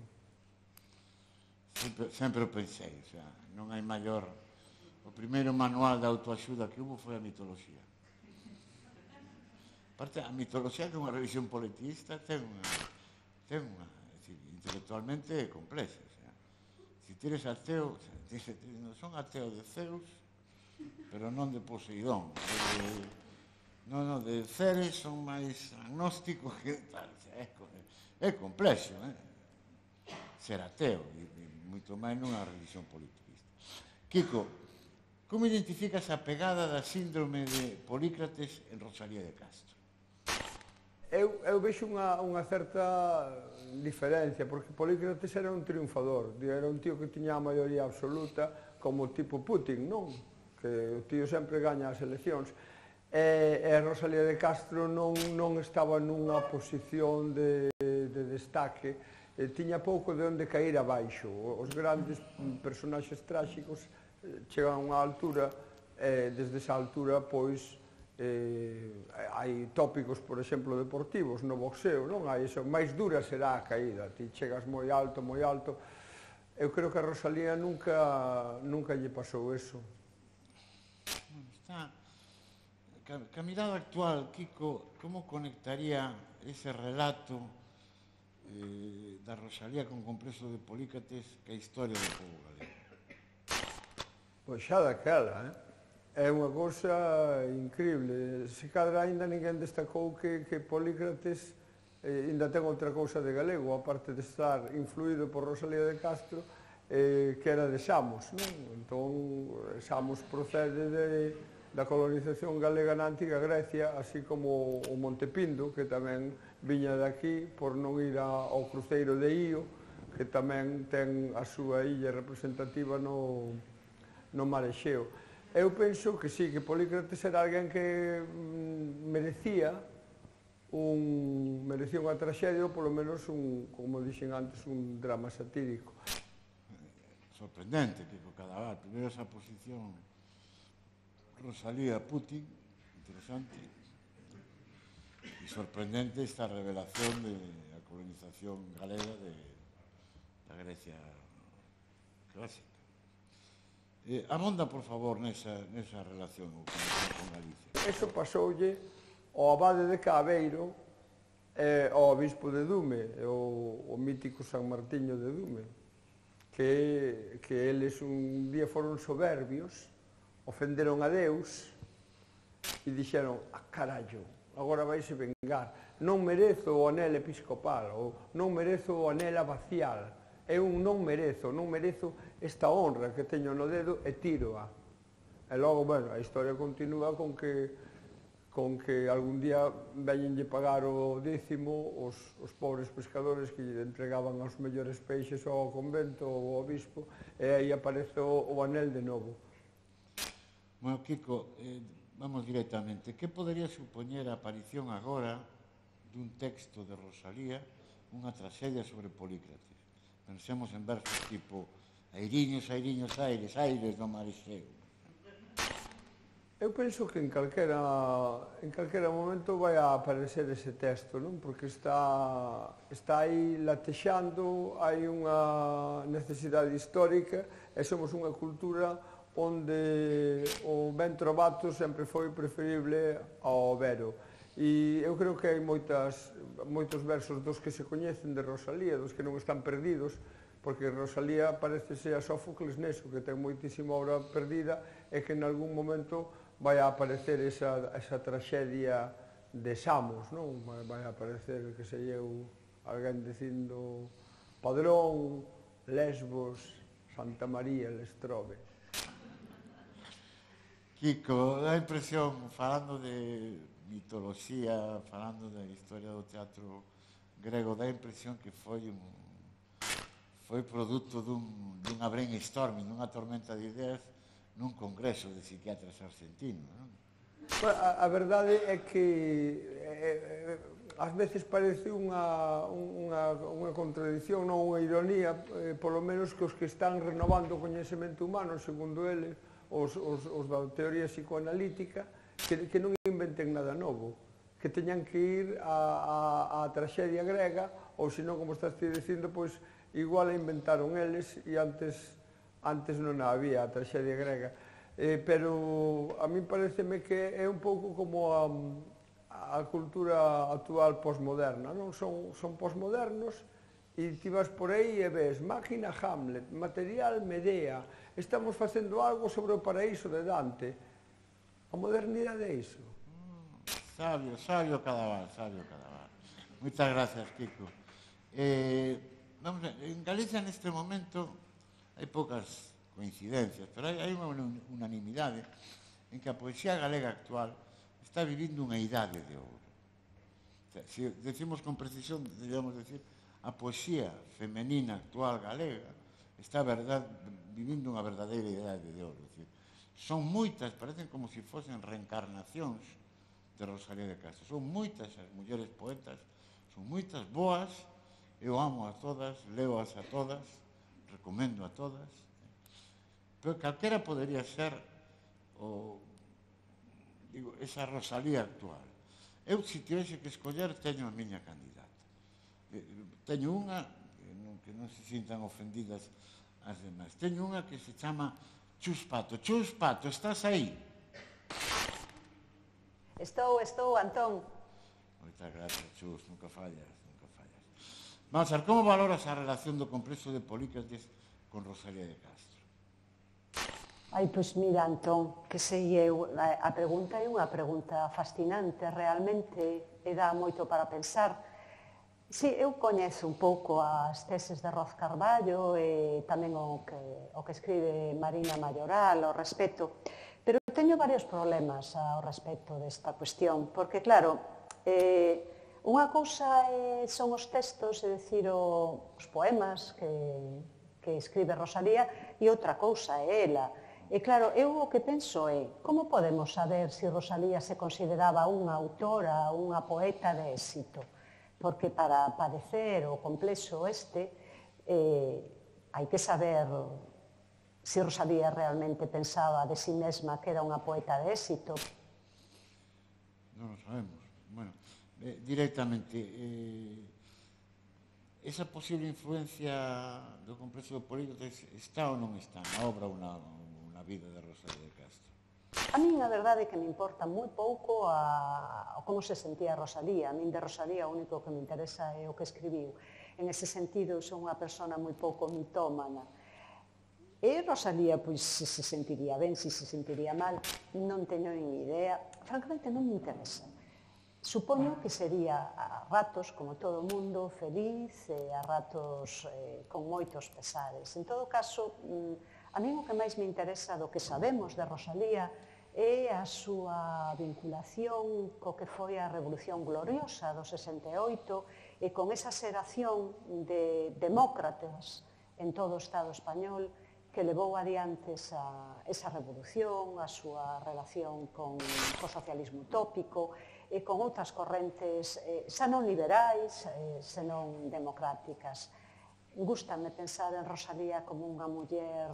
Sempre, sempre o pensei, o sea, non hai maior... O primeiro manual de autoaxuda que hubo foi a mitoloxía. Aparte, a mitoloxía que é unha revisión politista ten unha... ten unha... É dicir, intelectualmente é complexa. Se ti eres ateo, dice, non son ateo de Zeus, pero non de Poseidón. De, non, non, de Ceres son máis agnósticos que tal. É, é complexo, eh? Ser ateo, e, e moito máis nunha religión politiquista. Quico, como identificas a pegada da síndrome de Polícrates en Rosalía de Castro? eu, eu vexo unha, unha certa diferencia, porque Polícrates era un triunfador, era un tío que tiña a maioría absoluta, como tipo Putin, non? Que o tío sempre gaña as eleccións. E, e Rosalía de Castro non, non estaba nunha posición de, de destaque, e tiña pouco de onde cair abaixo. Os grandes personaxes tráxicos chegan a unha altura, e desde esa altura, pois, eh, hai tópicos, por exemplo, deportivos no boxeo, non? Hai eso, máis dura será a caída, ti chegas moi alto, moi alto. Eu creo que a Rosalía nunca, nunca lle pasou eso. Está, que a mirada actual, Kiko, como conectaría ese relato eh, da Rosalía con Complexo de Polícrates que a historia do povo galego? Pois xa daquela, eh? É unha cousa increíble. Se cadra ainda ninguén destacou que, que Polícrates eh, ainda ten outra cousa de galego, aparte de estar influído por Rosalía de Castro, eh, que era de Samos, non? Entón, Samos procede de, da colonización galega na antiga Grecia, así como o Montepindo, que tamén viña de aquí por non ir a, ao cruceiro de Io, que tamén ten a súa illa representativa no, no mar Exeo. Eu penso que sí, que Polícrates era alguén que mm, merecía un merecía unha traxedia ou polo menos un, como dixen antes, un drama satírico. Sorprendente, Kiko Cadaval. Primeiro esa posición Rosalía Putin, interesante, e sorprendente esta revelación de a colonización galega de, da Grecia clásica. Eh, amonda, por favor, nesa, nesa relación con Galicia. Eso pasoulle ao abade de Cabeiro e ao obispo de Dume, o, o mítico San Martiño de Dume, que, que eles un día foron soberbios, ofenderon a Deus e dixeron, ah, carallo, agora vaise vengar, non merezo o anel episcopal, ou non merezo o anel abacial, eu non merezo, non merezo esta honra que teño no dedo e tíroa. E logo, bueno, a historia continúa con que con que algún día veñenlle pagar o décimo os, os pobres pescadores que lle entregaban os mellores peixes ao convento ou ao obispo, e aí aparece o, o anel de novo. Bueno, Kiko, eh, vamos directamente. Que podería supoñer a aparición agora dun texto de Rosalía, unha traxedia sobre Polícrates? Pensemos en versos tipo airiños, airiños, aires, aires do mar Exeo. Eu penso que en calquera, en calquera momento vai a aparecer ese texto, non? Porque está, está aí latexando, hai unha necesidade histórica e somos unha cultura onde o ben trovato sempre foi preferible ao vero. E eu creo que hai moitas, moitos versos dos que se coñecen de Rosalía, dos que non están perdidos, porque Rosalía parece ser a Sófocles neso, que ten moitísima obra perdida e que en algún momento vai a aparecer esa, esa traxedia de Samos, non? Vai a aparecer, que sei eu, alguén dicindo Padrón, Lesbos, Santa María, Lestrobe. Kiko, dá a impresión, falando de mitoloxía, falando da historia do teatro grego, dá a impresión que foi un foi produto dun, dunha brainstorming, dunha tormenta de ideas nun congreso de psiquiatras argentinos, non? A, a verdade é que eh, ás veces parece unha, unha, unha contradición, non unha ironía, eh, polo menos que os que están renovando o coñecemento humano, segundo eles, os, os, os da teoría psicoanalítica, que, que non inventen nada novo, que teñan que ir a, a, a traxedia grega, ou senón, como estás ti dicindo, pois igual a inventaron eles e antes, antes non había a traxedia grega. Eh, pero a mí pareceme que é un pouco como a, a cultura actual posmoderna, non? Son, son posmodernos e ti vas por aí e ves máquina Hamlet, material Medea, estamos facendo algo sobre o paraíso de Dante. A modernidade é iso. Mm, sabio, sabio Cadaval, sabio Cadaval. Moitas gracias, Kiko. Eh, vamos a, en Galicia neste momento hai poucas coincidencias, pero hai, hai unha unanimidade en que a poesía galega actual está vivindo unha idade de ouro. Se decimos con precisión, deberíamos decir, a poesía femenina actual galega está verdad, vivindo unha verdadeira idade de ouro. Decir, son moitas, parecen como se fosen reencarnacións de Rosalía de Castro. Son moitas as mulleres poetas, son moitas boas, eu amo a todas, leo-as a todas, recomendo a todas. Pero calquera podería ser o, digo, esa Rosalía actual. Eu, se tivese que escoller, teño a miña candidata. Teño unha, que non, que non se sintan ofendidas as demais, teño unha que se chama Chus Pato. Chus Pato, estás aí? Estou, estou, Antón. Moitas gracias, Chus, nunca fallas, nunca fallas. Vamos a ver, como valoras a relación do complexo de Polícrates con Rosalía de Castro? Ai, pois mira, Antón, que sei eu, a pregunta é unha pregunta fascinante, realmente, e dá moito para pensar. Si, eu coñezo un pouco as teses de Roz Carballo e tamén o que, o que escribe Marina Mayoral ao respecto, pero teño varios problemas ao respecto desta cuestión, porque, claro, eh, unha cousa eh, son os textos, é dicir, o, os poemas que, que escribe Rosalía, e outra cousa é ela. E claro, eu o que penso é, como podemos saber se Rosalía se consideraba unha autora, unha poeta de éxito? Porque para padecer o complexo este, eh, hai que saber se Rosalía realmente pensaba de si mesma que era unha poeta de éxito. Non lo sabemos. Bueno, eh, directamente, eh, esa posible influencia do complexo de Polícrates está ou non está na obra ou na, na vida de Rosalía de Castro? A min a verdade é que me importa moi pouco a, a como se sentía Rosalía. A min de Rosalía o único que me interesa é o que escribiu. En ese sentido, son unha persona moi pouco mitómana. E Rosalía, pois, se se sentiría ben, se se sentiría mal, non teño nin idea. Francamente, non me interesa. Supoño que sería a ratos, como todo o mundo, feliz e a ratos eh, con moitos pesares. En todo caso, a mí o que máis me interesa do que sabemos de Rosalía é a súa vinculación co que foi a Revolución Gloriosa do sesenta e oito e con esa xeración de demócratas en todo o Estado español que levou adiante esa, esa revolución, a súa relación con o socialismo utópico e con outras correntes eh, xa non liberais, eh, senón democráticas. Gústame pensar en Rosalía como unha muller,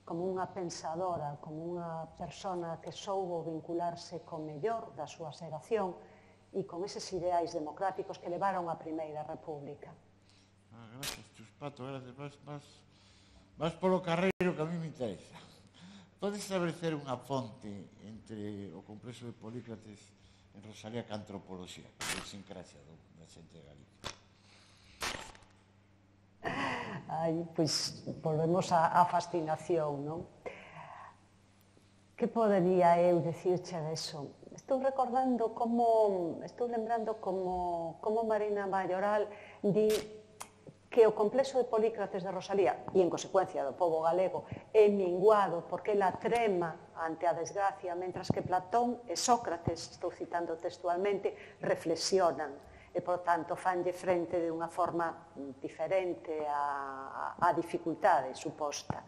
como unha pensadora, como unha persona que soubo vincularse co mellor da súa xeración e con eses ideais democráticos que levaron a Primeira República. Ah, gracias, Chus Pato, gracias. Vas, vas, vas polo carreiro que a mí me interesa. Podes establecer unha fonte entre o complexo de Polícrates en Rosalía que a antropoloxía, que é a idiosincrasia da xente de Galicia? Ai, pois, volvemos á fascinación, non? Que podería eu dicirche deso? Estou recordando como, estou lembrando como, como Marina Mayoral di que o complexo de Polícrates de Rosalía, e en consecuencia do pobo galego, é minguado porque ela trema ante a desgracia, mentras que Platón e Sócrates, estou citando textualmente, reflexionan e, por tanto, fanlle frente de unha forma diferente á, á dificultade suposta.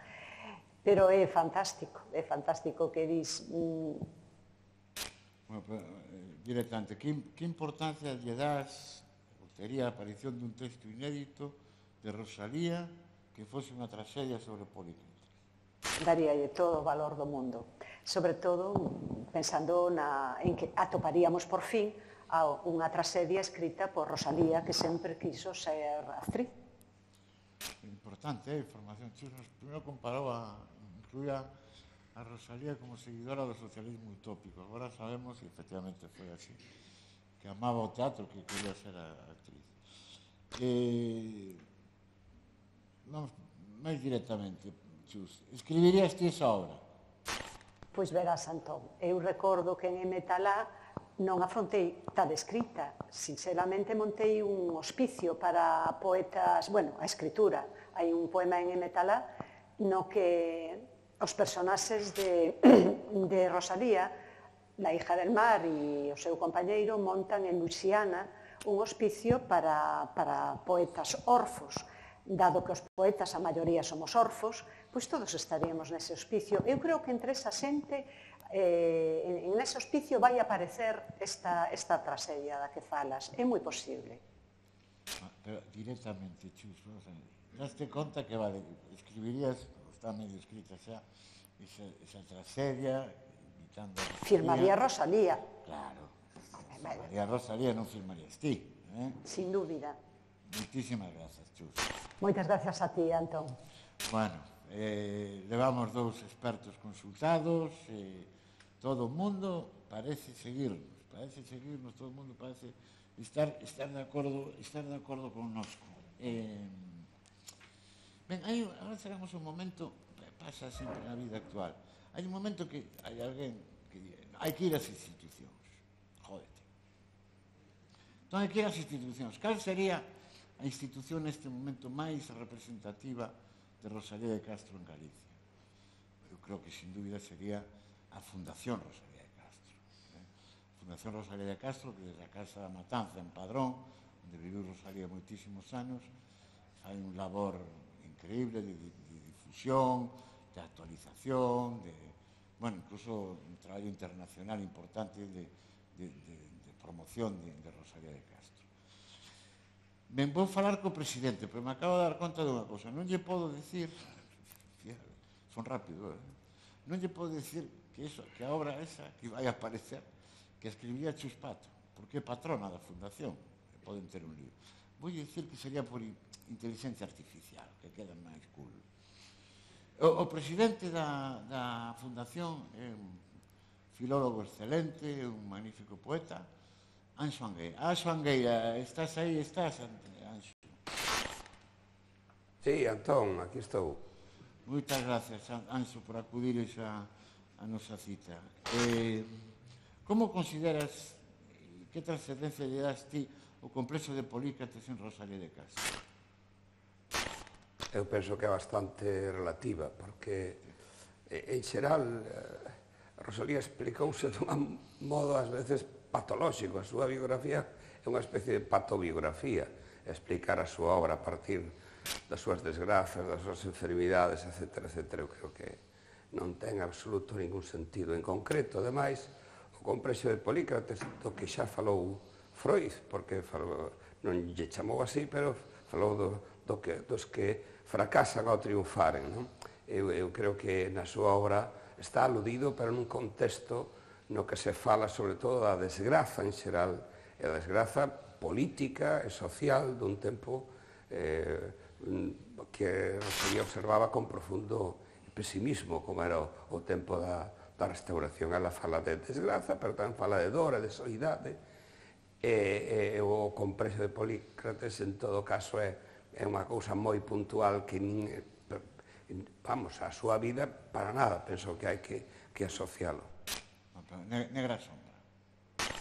Pero é fantástico, é fantástico que dis... Mm... Bueno, pero, eh, directamente, que, que importancia lle das, tería a aparición dun texto inédito de Rosalía que fose unha tragedia sobre Polícrates? Daríalle todo o valor do mundo. Sobre todo, pensando na, en que atoparíamos por fin a unha tragedia escrita por Rosalía, que sempre quiso ser actriz. Importante, eh, información. Chus nos primeiro comparou a, incluía a Rosalía como seguidora do socialismo utópico. Agora sabemos, e efectivamente foi así, que amaba o teatro, que quería ser a actriz. Eh, vamos, máis directamente, Chus, escribirías ti esa obra? Pois verás, Antón, eu recordo que en Emetalá non afrontei tal escrita, sinceramente montei un hospicio para poetas, bueno, a escritura. Hai un poema en Emetalá no que os personaxes de, de Rosalía La hija del mar e o seu compañeiro montan en Luisiana un hospicio para, para poetas orfos. Dado que os poetas, a maioría somos orfos, pois todos estaríamos nese hospicio. Eu creo que entre esa xente, eh, en ese hospicio vai aparecer esta, esta tragedia da que falas. É moi posible. Pero directamente, Chus, daste conta que, vale, escribirías, está medio escrita xa, esa, esa tragedia, imitando a Rosalía. Firmaría Rosalía. Claro, firmaría Rosalía, non firmarías ti, eh? Sin dúbida. Moitísimas grazas, Chus. Moitas gracias a ti, Antón. Bueno, eh, levamos dous expertos consultados, eh, todo o mundo parece seguirnos, parece seguirnos, todo o mundo parece estar, estar de acordo, estar de acordo connosco. Eh, ben, hai, agora chegamos a un momento, pasa sempre na vida actual, hai un momento que hai alguén que di, hai que ir ás institucións, jódete. Entón hai que ir ás institucións. Cal sería a institución neste momento máis representativa de Rosalía de Castro en Galicia? Eu creo que, sin dúbida, sería a Fundación Rosalía de Castro. Eh? A Fundación Rosalía de Castro, que desde a Casa da Matanza en Padrón, onde viviu Rosalía moitísimos anos, hai un labor increíble de, de, de difusión, de actualización, de, bueno, incluso un traballo internacional importante de, de, de, de promoción de, de Rosalía de Castro. Ben, vou falar co presidente, pero me acabo de dar conta de unha cosa. Non lle podo decir, son rápido, eh? non lle podo decir que, eso, que a obra esa que vai a aparecer, que escribiría Chus Pato, porque é patrona da fundación, e poden ter un libro. Vou dicir que sería por inteligencia artificial, que queda máis cool. O, o presidente da, da fundación é un filólogo excelente, un magnífico poeta, Anxo Angueira. Anxo Angueira, estás aí, estás, Anxo? Sí, Antón, aquí estou. Moitas gracias, Anxo, por acudires a, a nosa cita. Eh, como consideras, que trascendencia lle das ti o complexo de Polícrates en Rosalía de Castro? Eu penso que é bastante relativa, porque, en xeral, Rosalía explicouse de un modo, ás veces, patolóxico. A súa biografía é unha especie de patobiografía, explicar a súa obra a partir das súas desgrazas, das súas enfermidades, etcétera, etcétera. Eu creo que non ten absoluto ningún sentido. En concreto, ademais, o complexo de Polícrates, do que xa falou Freud, porque falou, non lle chamou así, pero falou do, do que, dos que fracasan ao triunfaren. Non? Eu, eu creo que na súa obra está aludido, pero nun contexto no que se fala sobre todo da desgraza en xeral, e a desgraza política e social dun tempo eh, que Rosalía observaba con profundo pesimismo, como era o, o tempo da, da restauración. Ela fala de desgraza, pero tamén fala de dor e de soidade, e, e o complexo de Polícrates, en todo caso, é, é unha cousa moi puntual que nin, vamos, a súa vida para nada, penso que hai que, que asocialo. Negra sombra.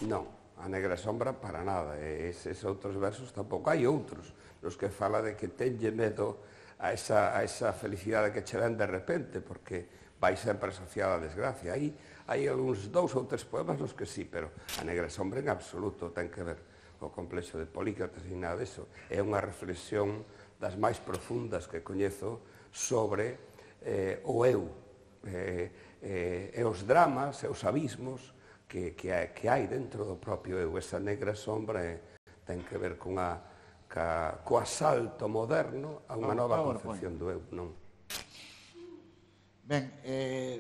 Non, a negra sombra para nada. Eses outros versos tampouco. Hai outros nos que fala de que tenlle medo a esa, a esa felicidade que che ven de repente, porque vai sempre asociada a desgracia. Hai, hai algúns dous ou tres poemas nos que sí, pero a negra sombra en absoluto ten que ver o complexo de Polícrates e nada disso. É unha reflexión das máis profundas que coñezo sobre eh, o eu, eh, eh, e os dramas e os abismos que, que, hai, que hai dentro do propio eu. Esa negra sombra eh, ten que ver con a, ca, co asalto moderno a unha nova concepción do eu, non? Ben, eh,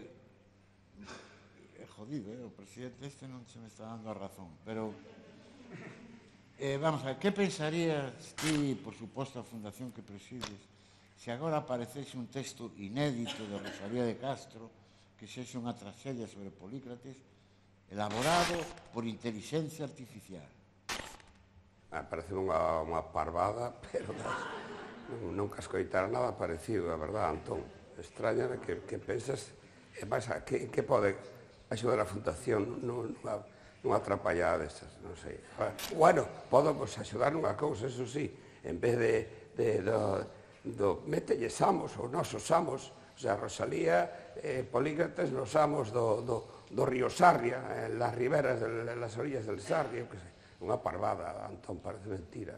é jodido, eh? O presidente este non se me está dando a razón, pero eh, vamos a ver, que pensarías ti, por suposto, a fundación que presides, se agora aparecese un texto inédito de Rosalía de Castro que sexe unha tragedia sobre Polícrates elaborado por inteligencia artificial? Ah, parece unha, unha parvada, pero nunca escoitara nada parecido, a verdad, Antón. Extrañame que, que pensas, e máis, que, que pode axudar a fundación nunha, nunha atrapallada desas, non sei. Bueno, podo pues, axudar nunha cousa, eso sí, en vez de, de do, do metelles amos, os nosos amos, o sea, Rosalía, eh, Polícrates, nos amos do, do, do río Sarria, en las riberas, en las orillas del Sarria, que sei, unha parvada, Antón, parece mentira.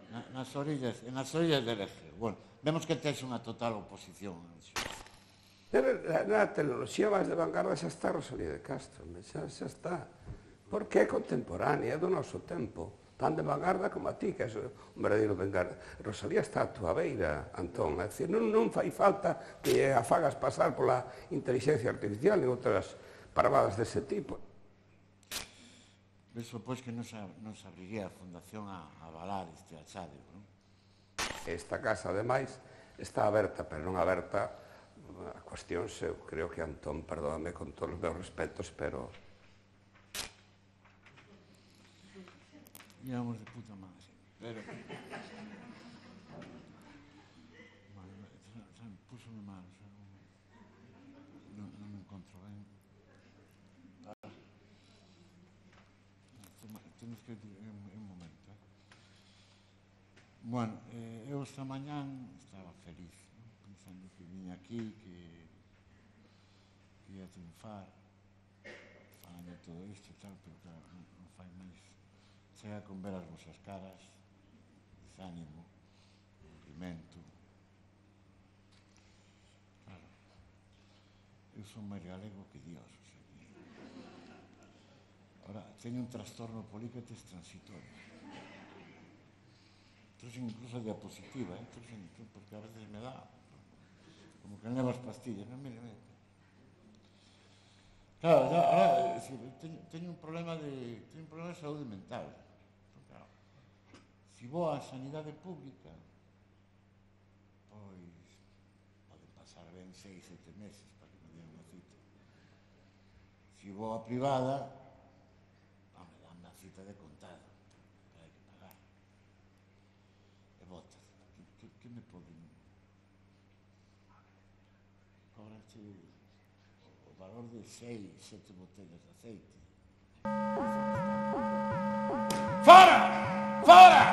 Na, nas orillas, en as orillas del Eje. Bueno, vemos que tes unha total oposición. Pero na, na tecnoloxía máis de vanguarda xa está Rosalía de Castro, xa, xa está. Porque é contemporánea, é do noso tempo. Tan de vanguarda como a ti, que é un verdadeiro vanguarda. Rosalía está a túa beira, Antón. É dicir, non, non fai falta que a fagas pasar pola inteligencia artificial e outras parvadas dese tipo. Penso, pois, que non se, non se abriría a Fundación a, a avalar este achadio, non? Esta casa, ademais, está aberta, pero non aberta a cuestión, eu creo que Antón, perdóname con todos os meus respetos, pero... Íbamos de puta madre, pero... Bueno, púsome mal, non, non me encontro ben. Temos que ir un momento. Bueno, eh, eu esta mañán estaba feliz, ¿no? Pensando que viña aquí, que, que ia triunfar, falando de todo isto e tal, pero claro, non, non fai máis. Chega con ver as vosas caras, desánimo, aburrimento. Claro, eu son máis galego que Dios, o sea que... Ahora, teño un trastorno políquetes transitorio. Entonces, incluso diapositiva, ¿eh? Entonces, porque a veces me da, como que levas pastillas, non, mire, mire. Claro, ya, ahora, es decir, teño, teño un problema de, teño un problema de saúde mental. Si vou á sanidade pública, pois poden pasar ben seis, sete meses para que me den unha cita. Si vou á privada, me dan unha cita de contado, que hai que pagar. E botas. Que, que me poden... Cobrache o valor de seis, sete botellas de aceite. Fora! Fora!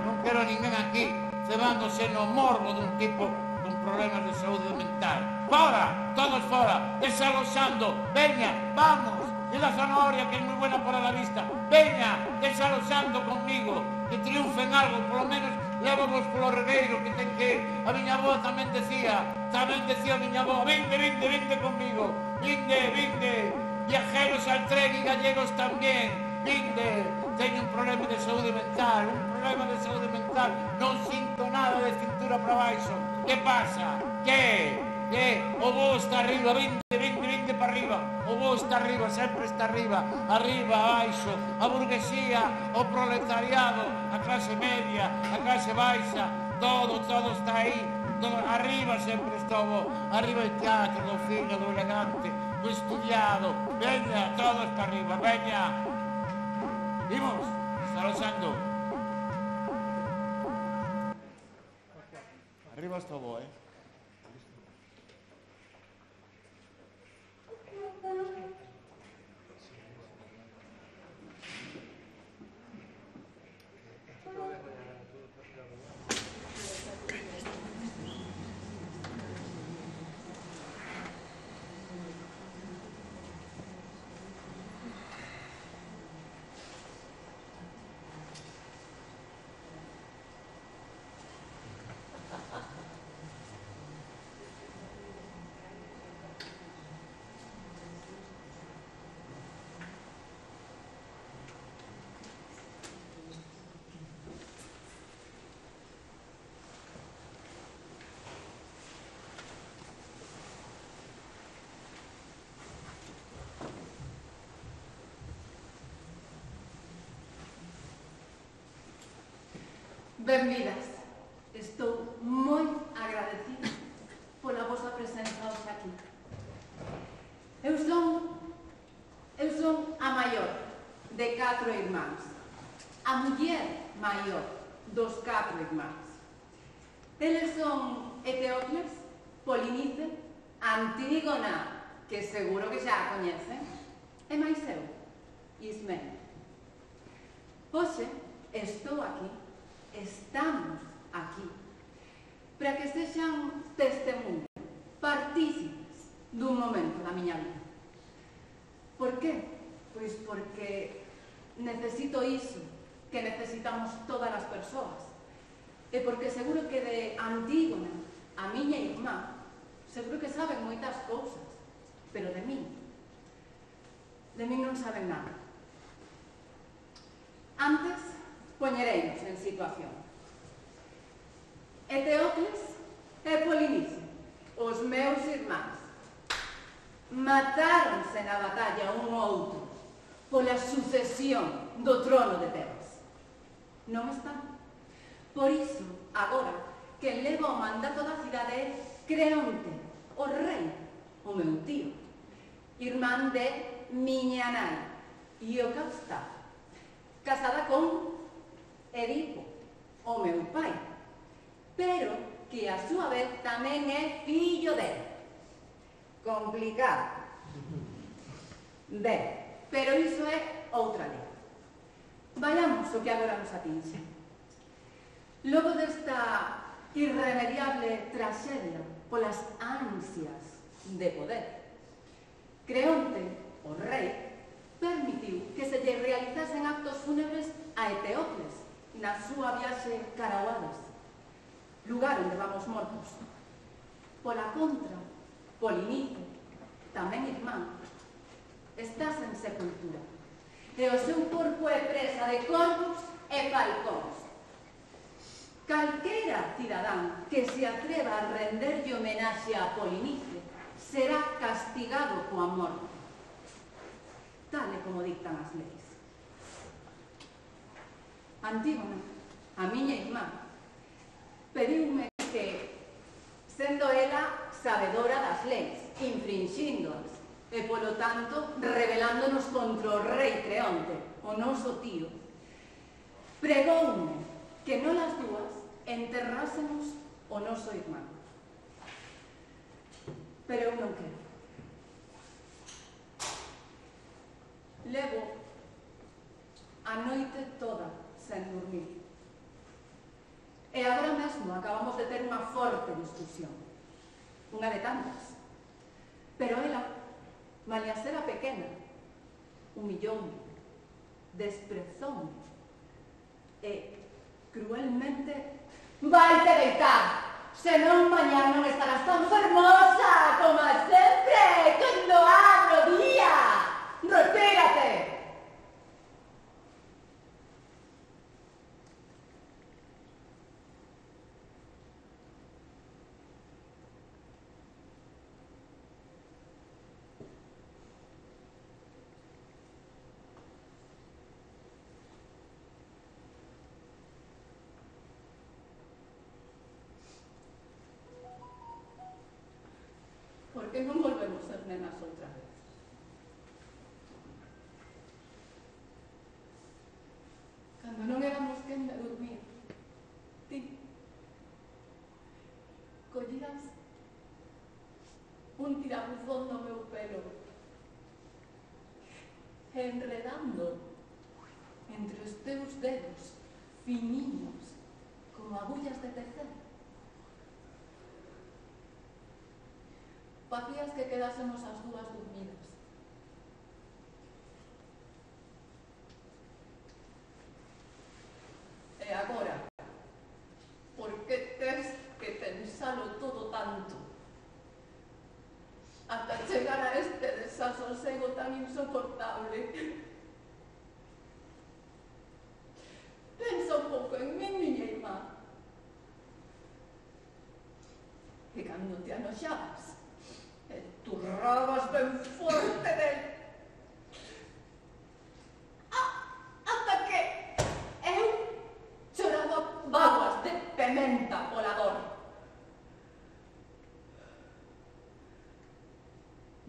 Non quero ninguén aquí cebándose no morbo dun tipo con problemas de saúde mental. Fora! Todos fora! Desaloxando! Veña! Vamos! E la zanahoria, que é moi buena para la vista. Veña! Desaloxando conmigo. Que triunfen algo, polo menos levamos polo regueiro que ten que... A miña avó tamén decía, tamén decía a miña avó, vinde, vinde, vinde conmigo. Vinde, vinde. Viajeros al tren e gallegos tamén. Vinde. Teño un problema de saúde mental, un problema de saúde mental, non sinto nada de cintura para baixo. Que pasa? Que? Que? O voo está arriba, vinte, vinte, vinte para arriba. O voo está arriba, sempre está arriba, arriba, baixo, a burguesía, o proletariado, a clase media, a clase baixa, todo, todo está aí. Todo, arriba sempre estuvo, arriba el teatro, do fino, do elegante, do estudiado. Veña, todos para arriba, veña. Vimos, desaloxando. Arriba estuvo, eh? Benvidas. Estou moi agradecida pola vosa presenza hoxe aquí. Eu son, eu son a maior de catro irmáns, a muller maior dos catro irmáns. Eles son Eteocles, Polinice, Antígona, que seguro que xa a coñecen, e máis eu, Ismene. Hoxe estou aquí, estamos aquí, para que sexan testemunhas, partícipes dun momento da miña vida. Por que? Pois porque necesito iso que necesitamos todas as persoas. E porque seguro que de Antígona, a miña irmá, seguro que saben moitas cousas, pero de min, de min non saben nada. Antes, poñereinos en situación. Eteocles e Polinice, os meus irmáns, matáronse na batalla un ao outro pola sucesión do trono de Tebas. Non están. Por iso, agora, quen leva o mandato da cidade é Creonte, o rei, o meu tío, irmán de miña nai, Iocasta, casada con Edipo, o meu pai, pero que a súa vez tamén é fillo dele. Complicado. Ben, pero iso é outra lei. Vayamos o que agora nos atinxe. Logo desta irremediable traxedia polas ansias de poder, Creonte, o rei, permitiu que se lle realizasen actos fúnebres a Eteocles na súa viaxe cara ao Hades, lugar onde vamos mortos. Pola contra, Polinice, tamén irmán, está sen sepultura, e o seu corpo é presa de corvos e falcóns. Calquera cidadán que se atreva a renderlle homenaxe a Polinice será castigado coa morte, tal e como dictan as leis. Antígona, a miña irmá, pediume que, sendo ela sabedora das leis, infringíndoas, e, polo tanto, rebelándonos contra o rei Creonte, o noso tío, pregoume que non as dúas enterrásemos o noso irmán. Pero eu non quero. Levo a noite toda sen dormir. E agora mesmo acabamos de ter unha forte discusión. Unha de tantas. Pero ela, malia ser a pequena, humilloume, desprezoume e, cruelmente, vaite deitar, senón mañá non estarás tan fermosa como sempre, cando abro día. Retírate. Por que non volvemos ser nenas outra vez? Cando non éramos quen de dormir, ti collías un tirabuzón do meu pelo e enredando entre os teus dedos finiños como agullas de tecer, facías que quedásemos as dúas dormidas. E agora, por que tes que pensalo todo tanto? Ata chegar a este desasosego tan insoportable. Pensa un pouco en min, miña irmá. E cando te anoxabas, turrabas ben forte del. Ah, ata que eu choraba vaguas de pementa pola dor.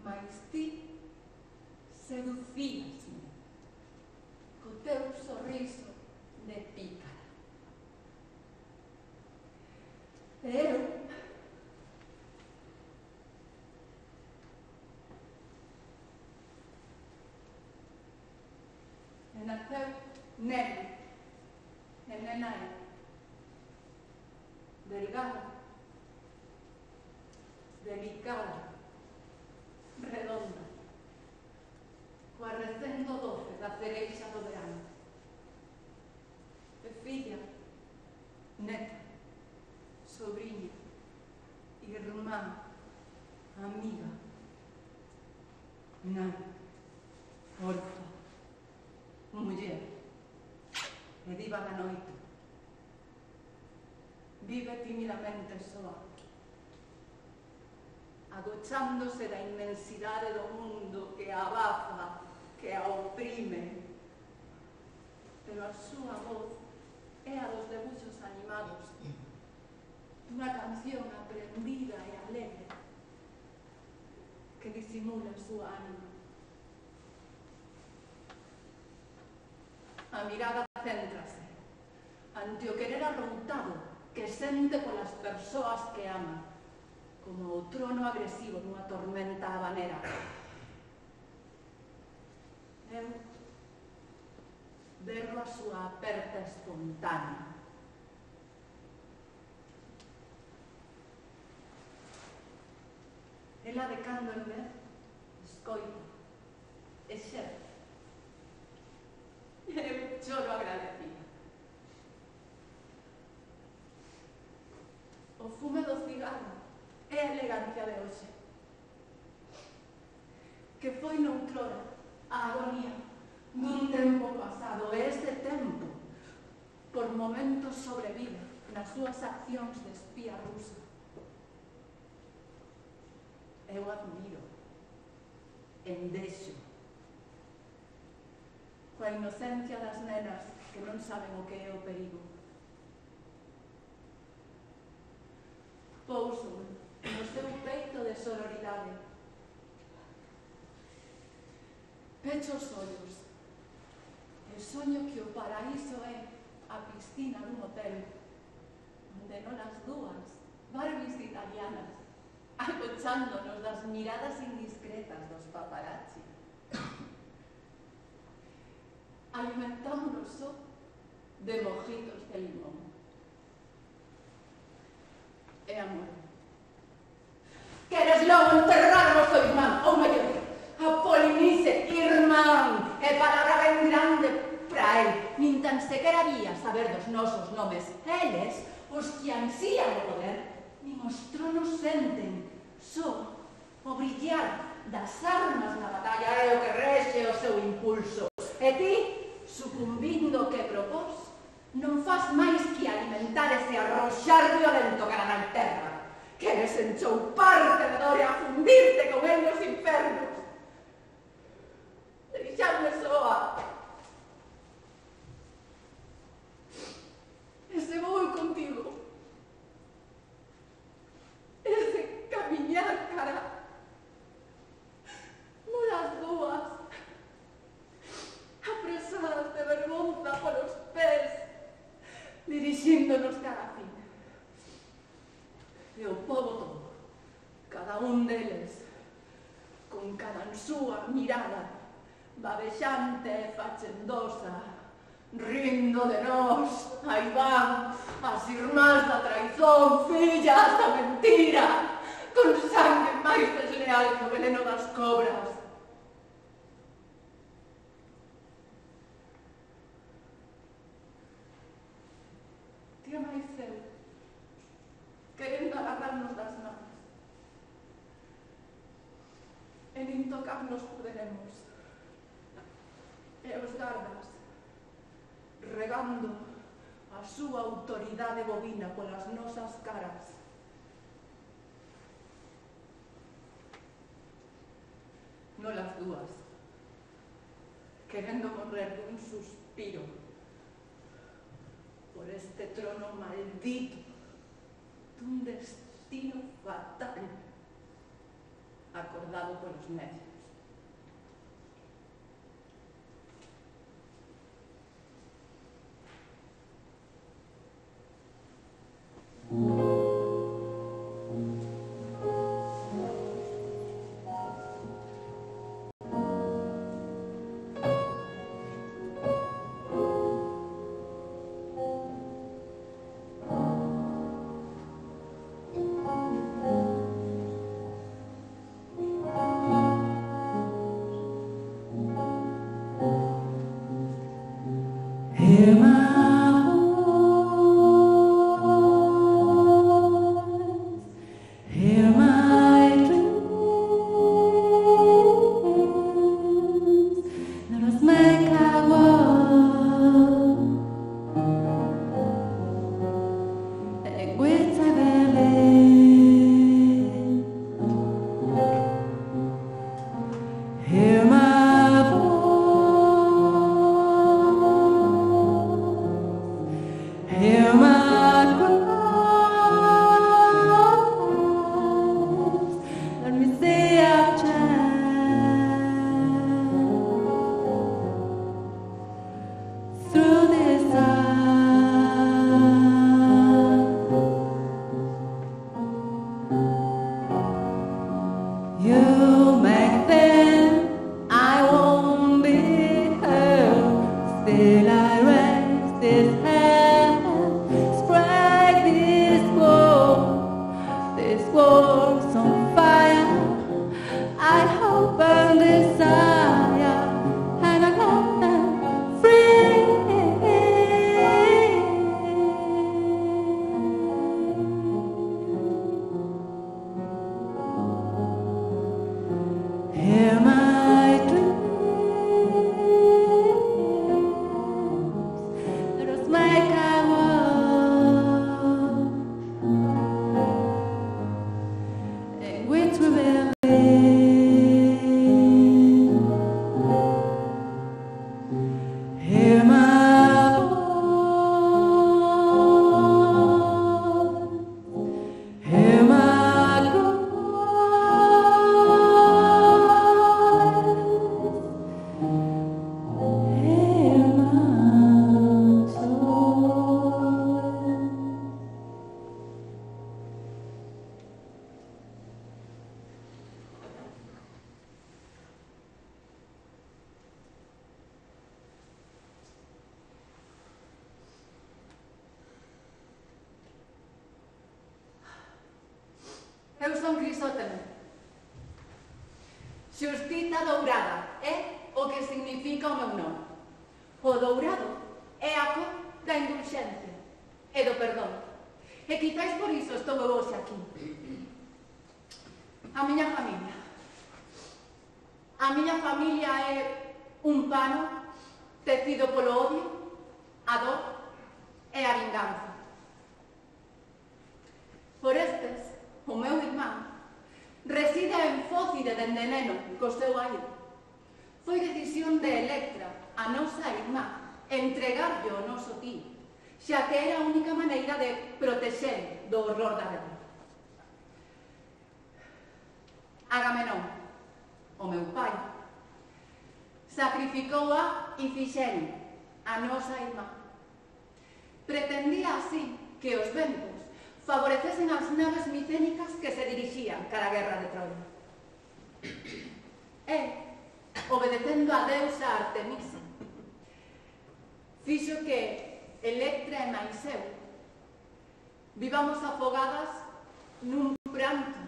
Mais ti seducíasme co teu sorriso de pícara. E eu naceu neno, e nena é delgada, delicada, freixa do verano. E filla, neta, sobrinha, irmán, amiga, nai, orfa, muller, e diva da noite. Vive timidamente soa, agochándose da inmensidade do mundo que a abafa, que a oprime. Pero a súa voz é a dos debuxos animados, dunha canción aprendida e alegre que disimula a súa ánima. A mirada céntrase ante o querer arroutado que sente polas persoas que ama, como o trono agresivo dunha tormenta habanera. Eu berro a súa aperta espontánea. Ela de cando en vez escoita e xerce. Eu choro agradecida. O fume do cigarro é a elegancia de hoxe, que foi noutrora a agonía dun tempo pasado, e este tempo por momentos sobrevive nas súas accións de espía rusa. Eu admiro, endexo, coa inocencia das nenas que non saben o que é o perigo. Pouso no seu peito de sororidade. Pecho os ollos e soño que o paraíso é a piscina dun hotel onde non as dúas Barbies italianas acochándonos das miradas indiscretas dos paparazzi. Alimentámonos só de mojitos de limón. E amor. Queres logo enterrarnos o irmán, ou mellor, a Polinice, irmán, e palabra ben grande pra el. Nin tan sequera había saber dos nosos nomes. Eles, os que ansían o poder, nin os tronos senten, só o brillar das armas na batalla é o que rexe o seu impulso. E ti, sucumbindo o que propós, non faz máis que alimentar ese arroxar violento cara na terra. Queres enchouparte de dor e afundirte con el nos infernos. Deixadme soa. Ese vou contigo. Ese camiñar cara. Molas dúas. Apresadas de vergonza polos pés. Dirixíndonos cara a fin. E o pobo todo, cada un deles, con cada súa mirada, babexante e fachendosa, rindo de nós, aí van as irmás da traizón, fillas da mentira, con sangue máis desleal que o veneno das cobras. Tía máis eu, querendo agarrarnos das mans, e nin tocarnos poderemos. E os gardas, regando a súa autoridade bovina polas nosas caras. Nolas dúas, querendo morrer dun suspiro por este trono maldito dun destino fatal acordado polos necios. Hear my voice, hear my dreams. Let us make our world equitable. Hear my voice, hear my cries. Let me see our child through this eye. You make them, I won't be hurt. Still I raise this hand, spread this war, this war's on fire. I hope and desire, and I love them free. Hear my dreams. Let us make our world in which we will live. Hear my voice, hear my cries. Hear my soul. Eu son Crisótemo. Xustiza dourada é o que significa o meu nome. O dourado é a cor da indulxencia e do perdón. E quizáis por iso estou eu hoxe aquí. A miña familia. A miña familia é un pano tecido polo odio, a dor e a vinganza. Por estes, o meu irmán reside en Fócide dende neno co seu aire. Foi decisión de Electra, a nosa irmá, entregarlle o noso tío, xa que era a única maneira de protexer do horror da guerra. Agamenón, o meu pai, sacrificou a Ifixene, a nosa irmá. Pretendía así que os ventos favorecesen as naves micénicas que se dirixían cara a guerra de Troia. E, obedecendo a deusa Artemisa, fixo que Electra e máis eu vivamos afogadas nun pranto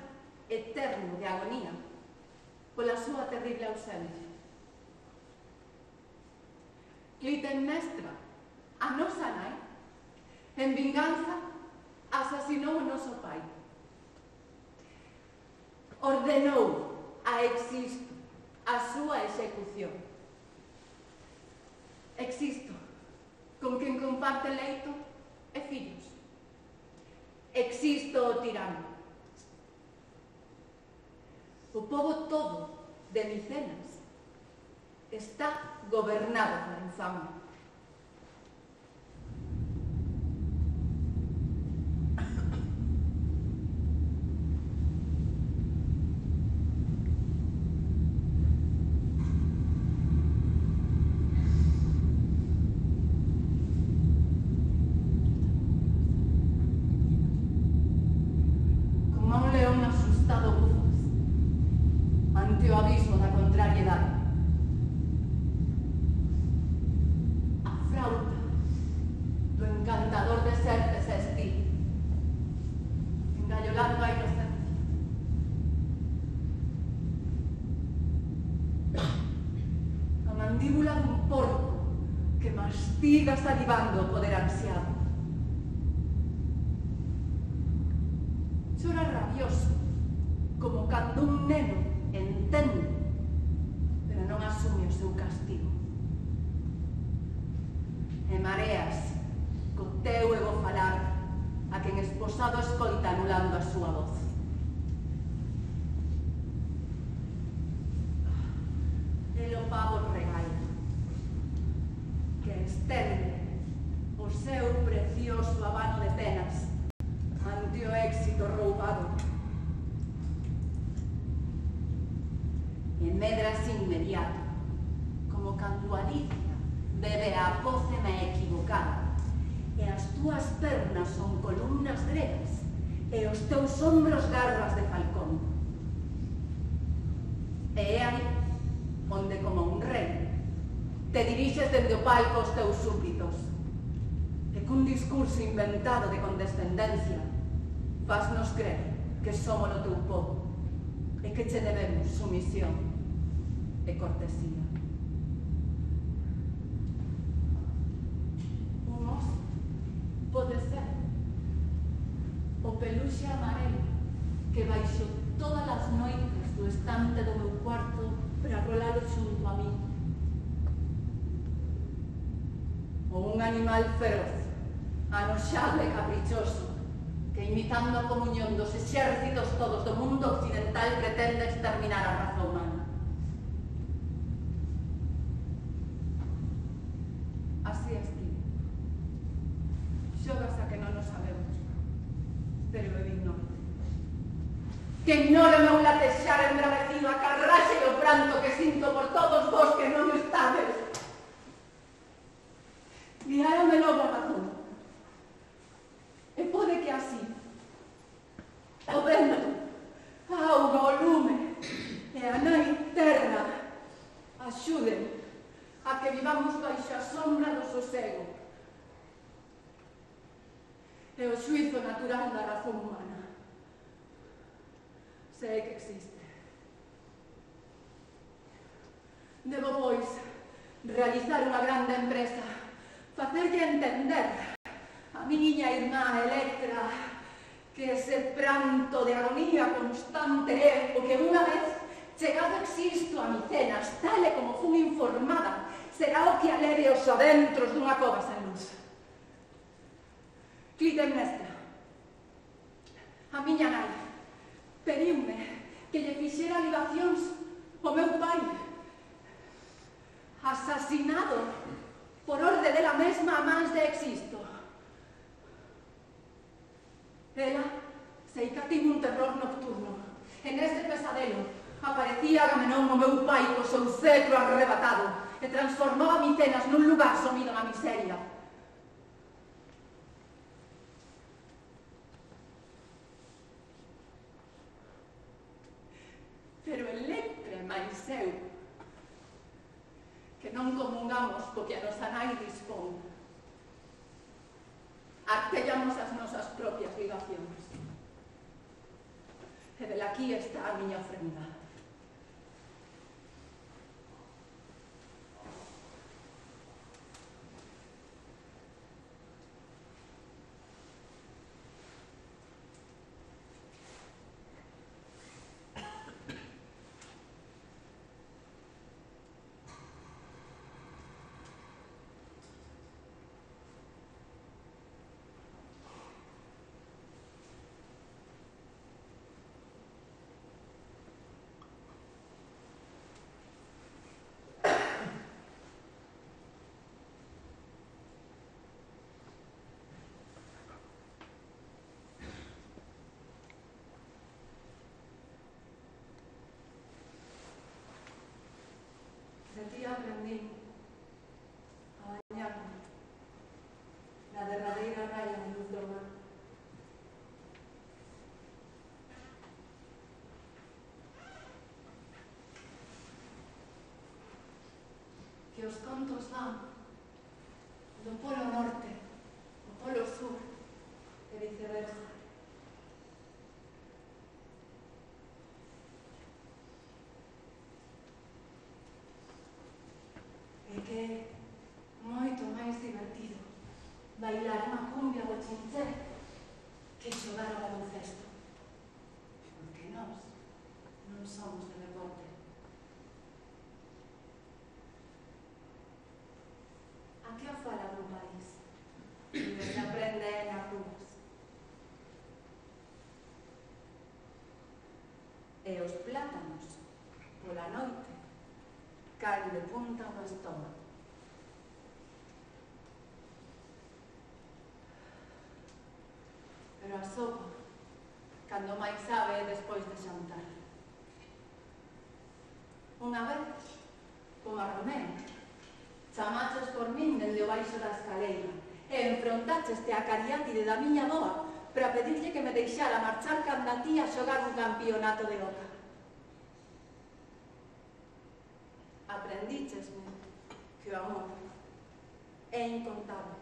eterno de agonía pola súa terrible ausencia. Clitemnestra, a nosa nai, en vinganza, asasinou o noso pai. Ordenou a Existo a súa execución. Existo, con quen comparte leito e fillos. Existo o tirano. O pobo todo de Micenas está gobernado pola infamia. Como un león asustado bufas ante o abismo da contrariedade. que mastiga salivando o poder ansiado. Chora rabioso, como cando un neno entende, pero non asume o seu castigo. E mareas co teu ego falar a quen esposado escoita anulando a súa voz. El o pavo regaña, que estende o seu precioso abano de penas ante o éxito roubado. E medras inmediato, como cando Alicia bebe a pócema equivocada, e as túas pernas son columnas gregas, e os teus ombros garras de falcón. E é aí onde, como un rei, te dirixes dende o palco aos teus súbditos, e cun discurso inventado de condescendencia fasnos crer que somos o teu povo e que che debemos sumisión e cortesía. Un oso pode ser o peluxe amarelo que baixo todas as noites do estante do meu cuarto para rolalo xunto a mí. Ou un animal feroz, anoxado e caprichoso, que imitando a comunión dos exércitos todos do mundo occidental pretende exterminar a raza humana. Así estive. Xogas a que non o sabemos, pero eu ignoro. Que ignore o meu latexar embravecido, a carraxe e o pranto que sinto por todos vos que non estades. Guiárame logo a razón. E pode que así o vento, a auga, o lume e a nai terra axuden a que vivamos baixo a sombra do sosego e o xuizo natural da razón humana. Sei que existe. Debo, pois, realizar unha grande empresa, facerlle entender a miña irmá Electra que ese pranto de agonía constante é o que unha vez chegado existo a Micenas, tal e como fun informada, será o que aleve os adentros dunha cova sen luz. Clitemnestra, a miña nai, pediume que lle fixera libacións o meu pai, asasinado por orde dela mesma a mans de Existo. Ela sei que tivo un terror nocturno. En ese pesadelo aparecía Agamenón o meu pai co seu cetro arrebatado e transformaba Micenas nun lugar sumido na miseria. Pero Electra e máis eu, que non comungamos co que a nosa nai dispón, artellamos as nosas propias ligacións. E velaquí está a miña ofrenda. De ti aprendí a bañarme na derradeira raya de luz do mar. Que os contos van do polo norte ao polo sur e viceversa. E que moito bailar unha cumbia do chinché que xogar ao baloncesto. Porque nós non somos de deporte. A que o fala no país? Onde se aprende nas rúas. E os plátanos, pola noite, caen de punta ao estómago. Pero a sopa, cando máis sabe, despois de xantar. Unha vez, como a Romeo, chamaches por min dende o baixo da escaleira e enfrontácheste a cariátide da miña boa para pedirlle que me deixara marchar canda ti a xogar un campeonato de Oca. Aprendíchesme que o amor é incontable,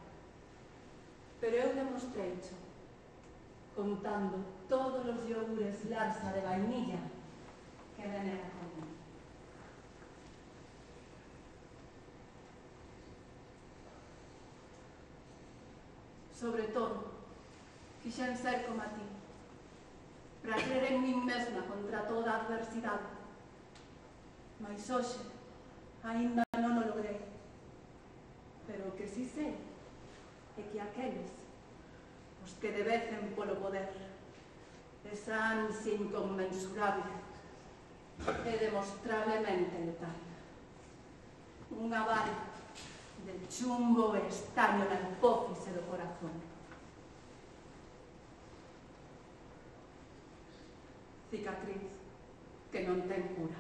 pero eu demostreicho contando todos os iogures Larsa de vainilla que venera comigo. Sobre todo, quixen ser como a ti, para crer en min mesma contra toda a adversidade. Mais hoxe, aínda non o logrei. Pero o que si sei é que aqueles os que debecen polo poder, esa ansia inconmensurable e demostrablemente letal. Unha bala de chumbo e estaño na hipófise do corazón. Cicatriz que non ten cura.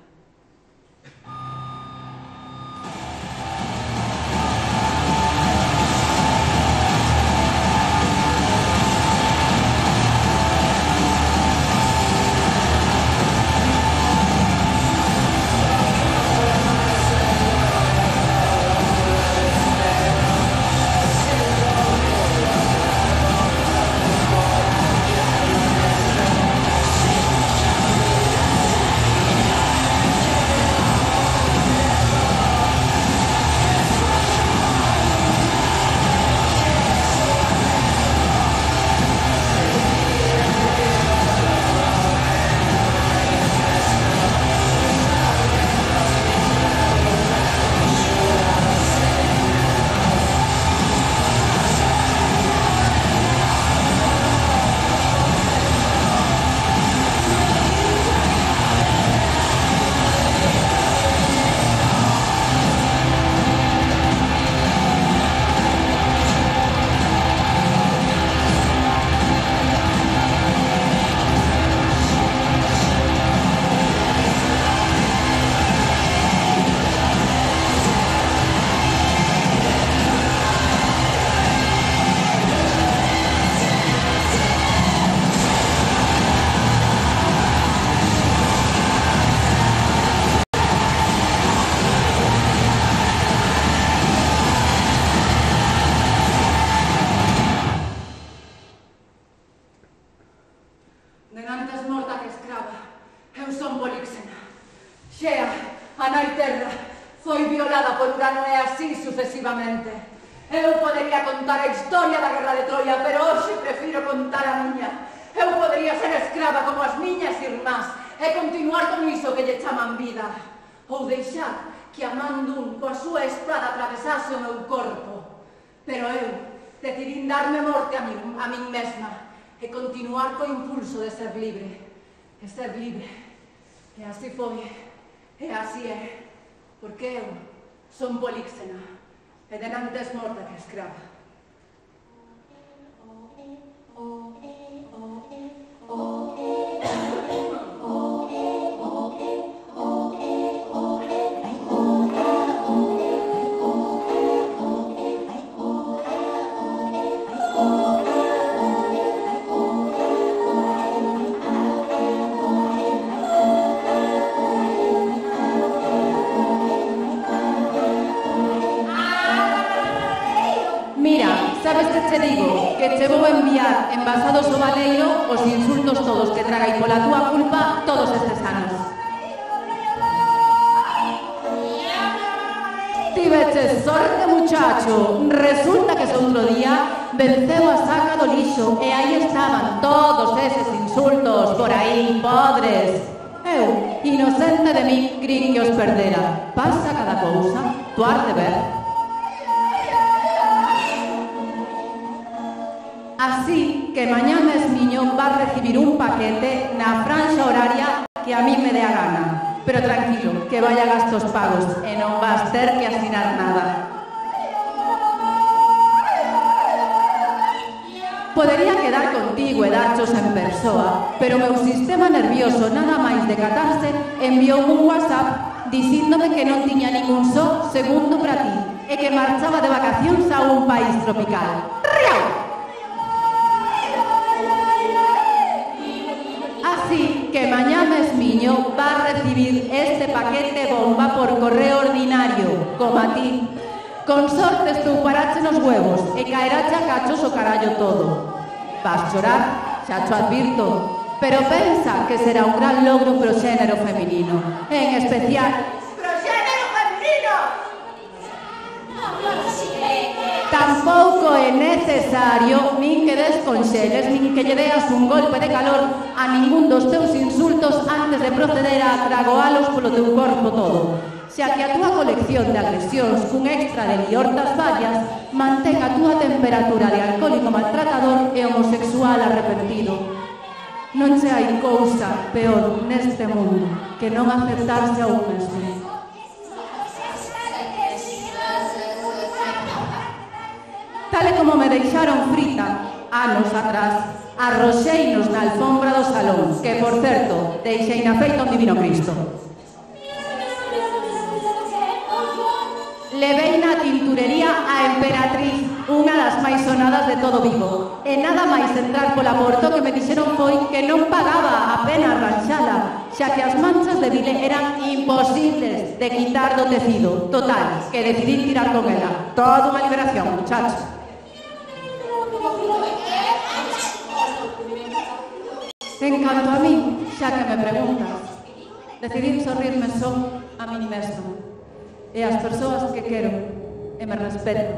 Sucesivamente. Eu podería contar a historia da guerra de Troia, pero hoxe prefiro contar a miña. Eu podería ser escrava como as miñas irmás e continuar con iso que lle chaman vida. Ou deixar que a man dun coa súa espada atravesase o meu corpo. Pero eu decidín darme morte a min, a min mesma e continuar co impulso de ser libre. E ser libre. E así foi. E así é. Porque eu son Políxena, e denantes morta que escrava. Sabes que che digo? Que che vou enviar envasados ao baleiro os insultos todos que tragai pola túa culpa todos estes anos. Ti tiveches sorte, muchacho. Resulta que ese outro día venceu a saca do lixo e aí estaban todos eses insultos por aí, podres. Eu, inocente de mí, crin que os perdera. Pasa cada cousa, tu has de ver. Así que mañá mesmiño vas recibir un paquete na franxa horaria que a mí me dé a gana. Pero tranquilo, que vaya gastos pagos e non vas ter que asinar nada. Podería quedar contigo e darchos en persoa, pero o meu sistema nervioso nada máis decatarse enviou un WhatsApp dicíndome que non tiña ningún só segundo para ti e que marchaba de vacacións a un país tropical. Riau! Así que mañá mesmiño va a recibir este paquete bomba por correo ordinario, como a ti. Con sorte estou parache nos huevos e caerache a cachos o carallo todo. Vas chorar, xa cho advirto, pero pensa que será un gran logro pro xénero feminino, en especial pro xénero feminino. Tampouco é necesario nin que desconxeles nin que lle deas un golpe de calor a ningún dos teus insultos antes de proceder a tragoalos polo teu corpo todo, xa que a túa colección de agresións cun extra de liortas varias mantén a túa temperatura de alcohólico maltratador e homosexual arrepentido. Non se hai cousa peor neste mundo que non aceptarse a un mesmo. Tal e como me deixaron frita anos atrás, arroxeinos na alfombra do salón, que, por certo, deixei na feita un divino Cristo. Levei na tinturería a Emperatriz, unha das máis sonadas de todo Vigo, e nada máis entrar pola porta que me dixeron foi que non pagaba a pena arranxala, xa que as manchas de vile eran imposibles de quitar do tecido. Total, que decidí tirar con ela. Toda unha liberación, muchacho. En canto a mí, xa que me preguntas, decidí sorrirme só a mí mesmo e as persoas que quero e me respeto.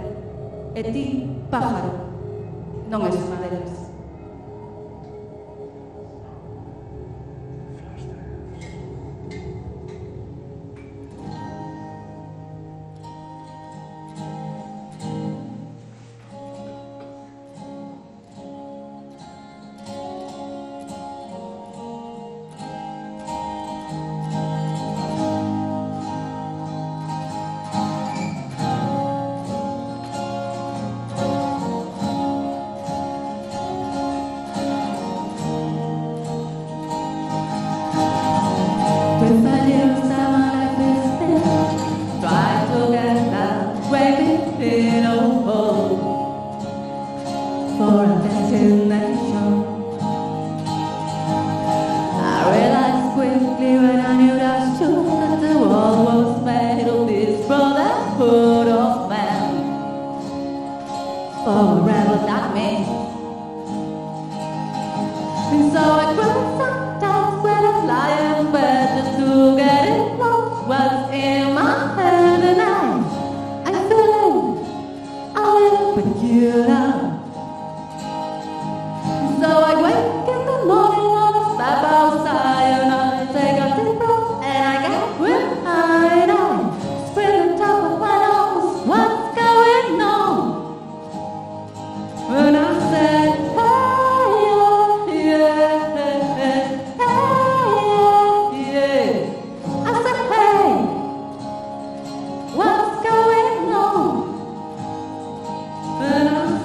E ti, pájaro, non és unha delas.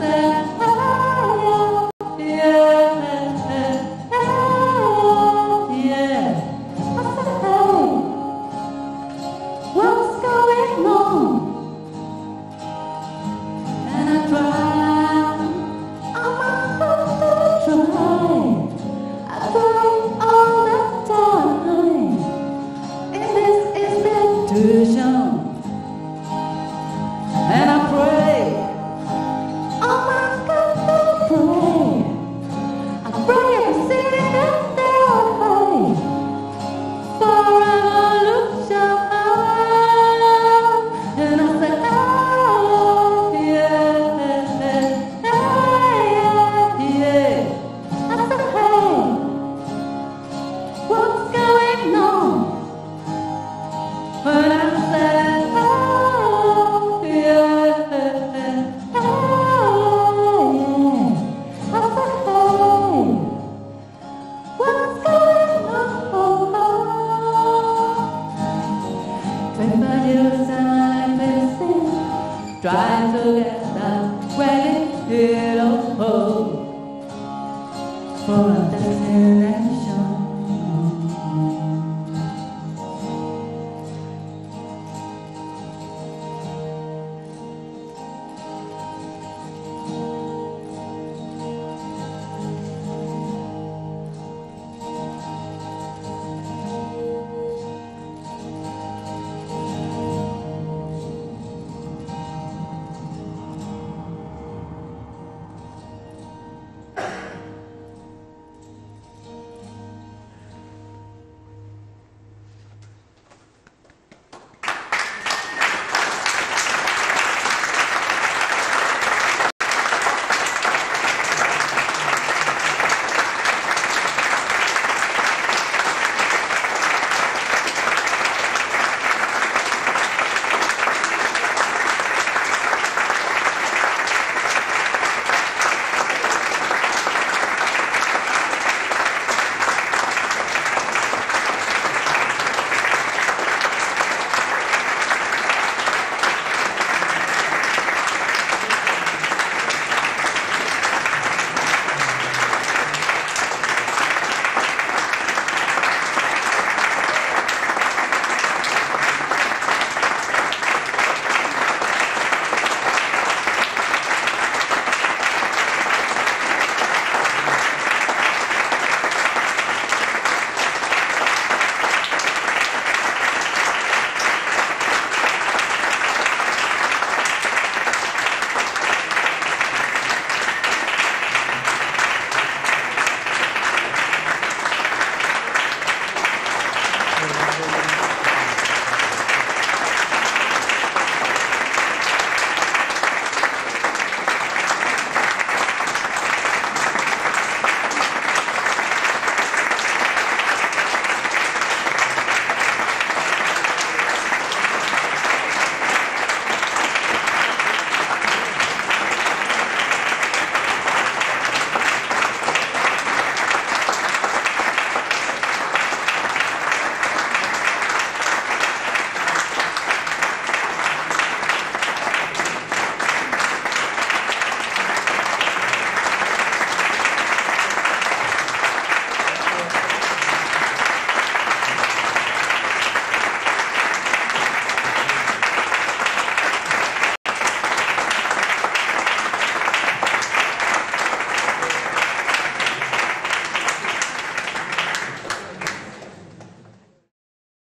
Say together when it hit a hole. For a dancing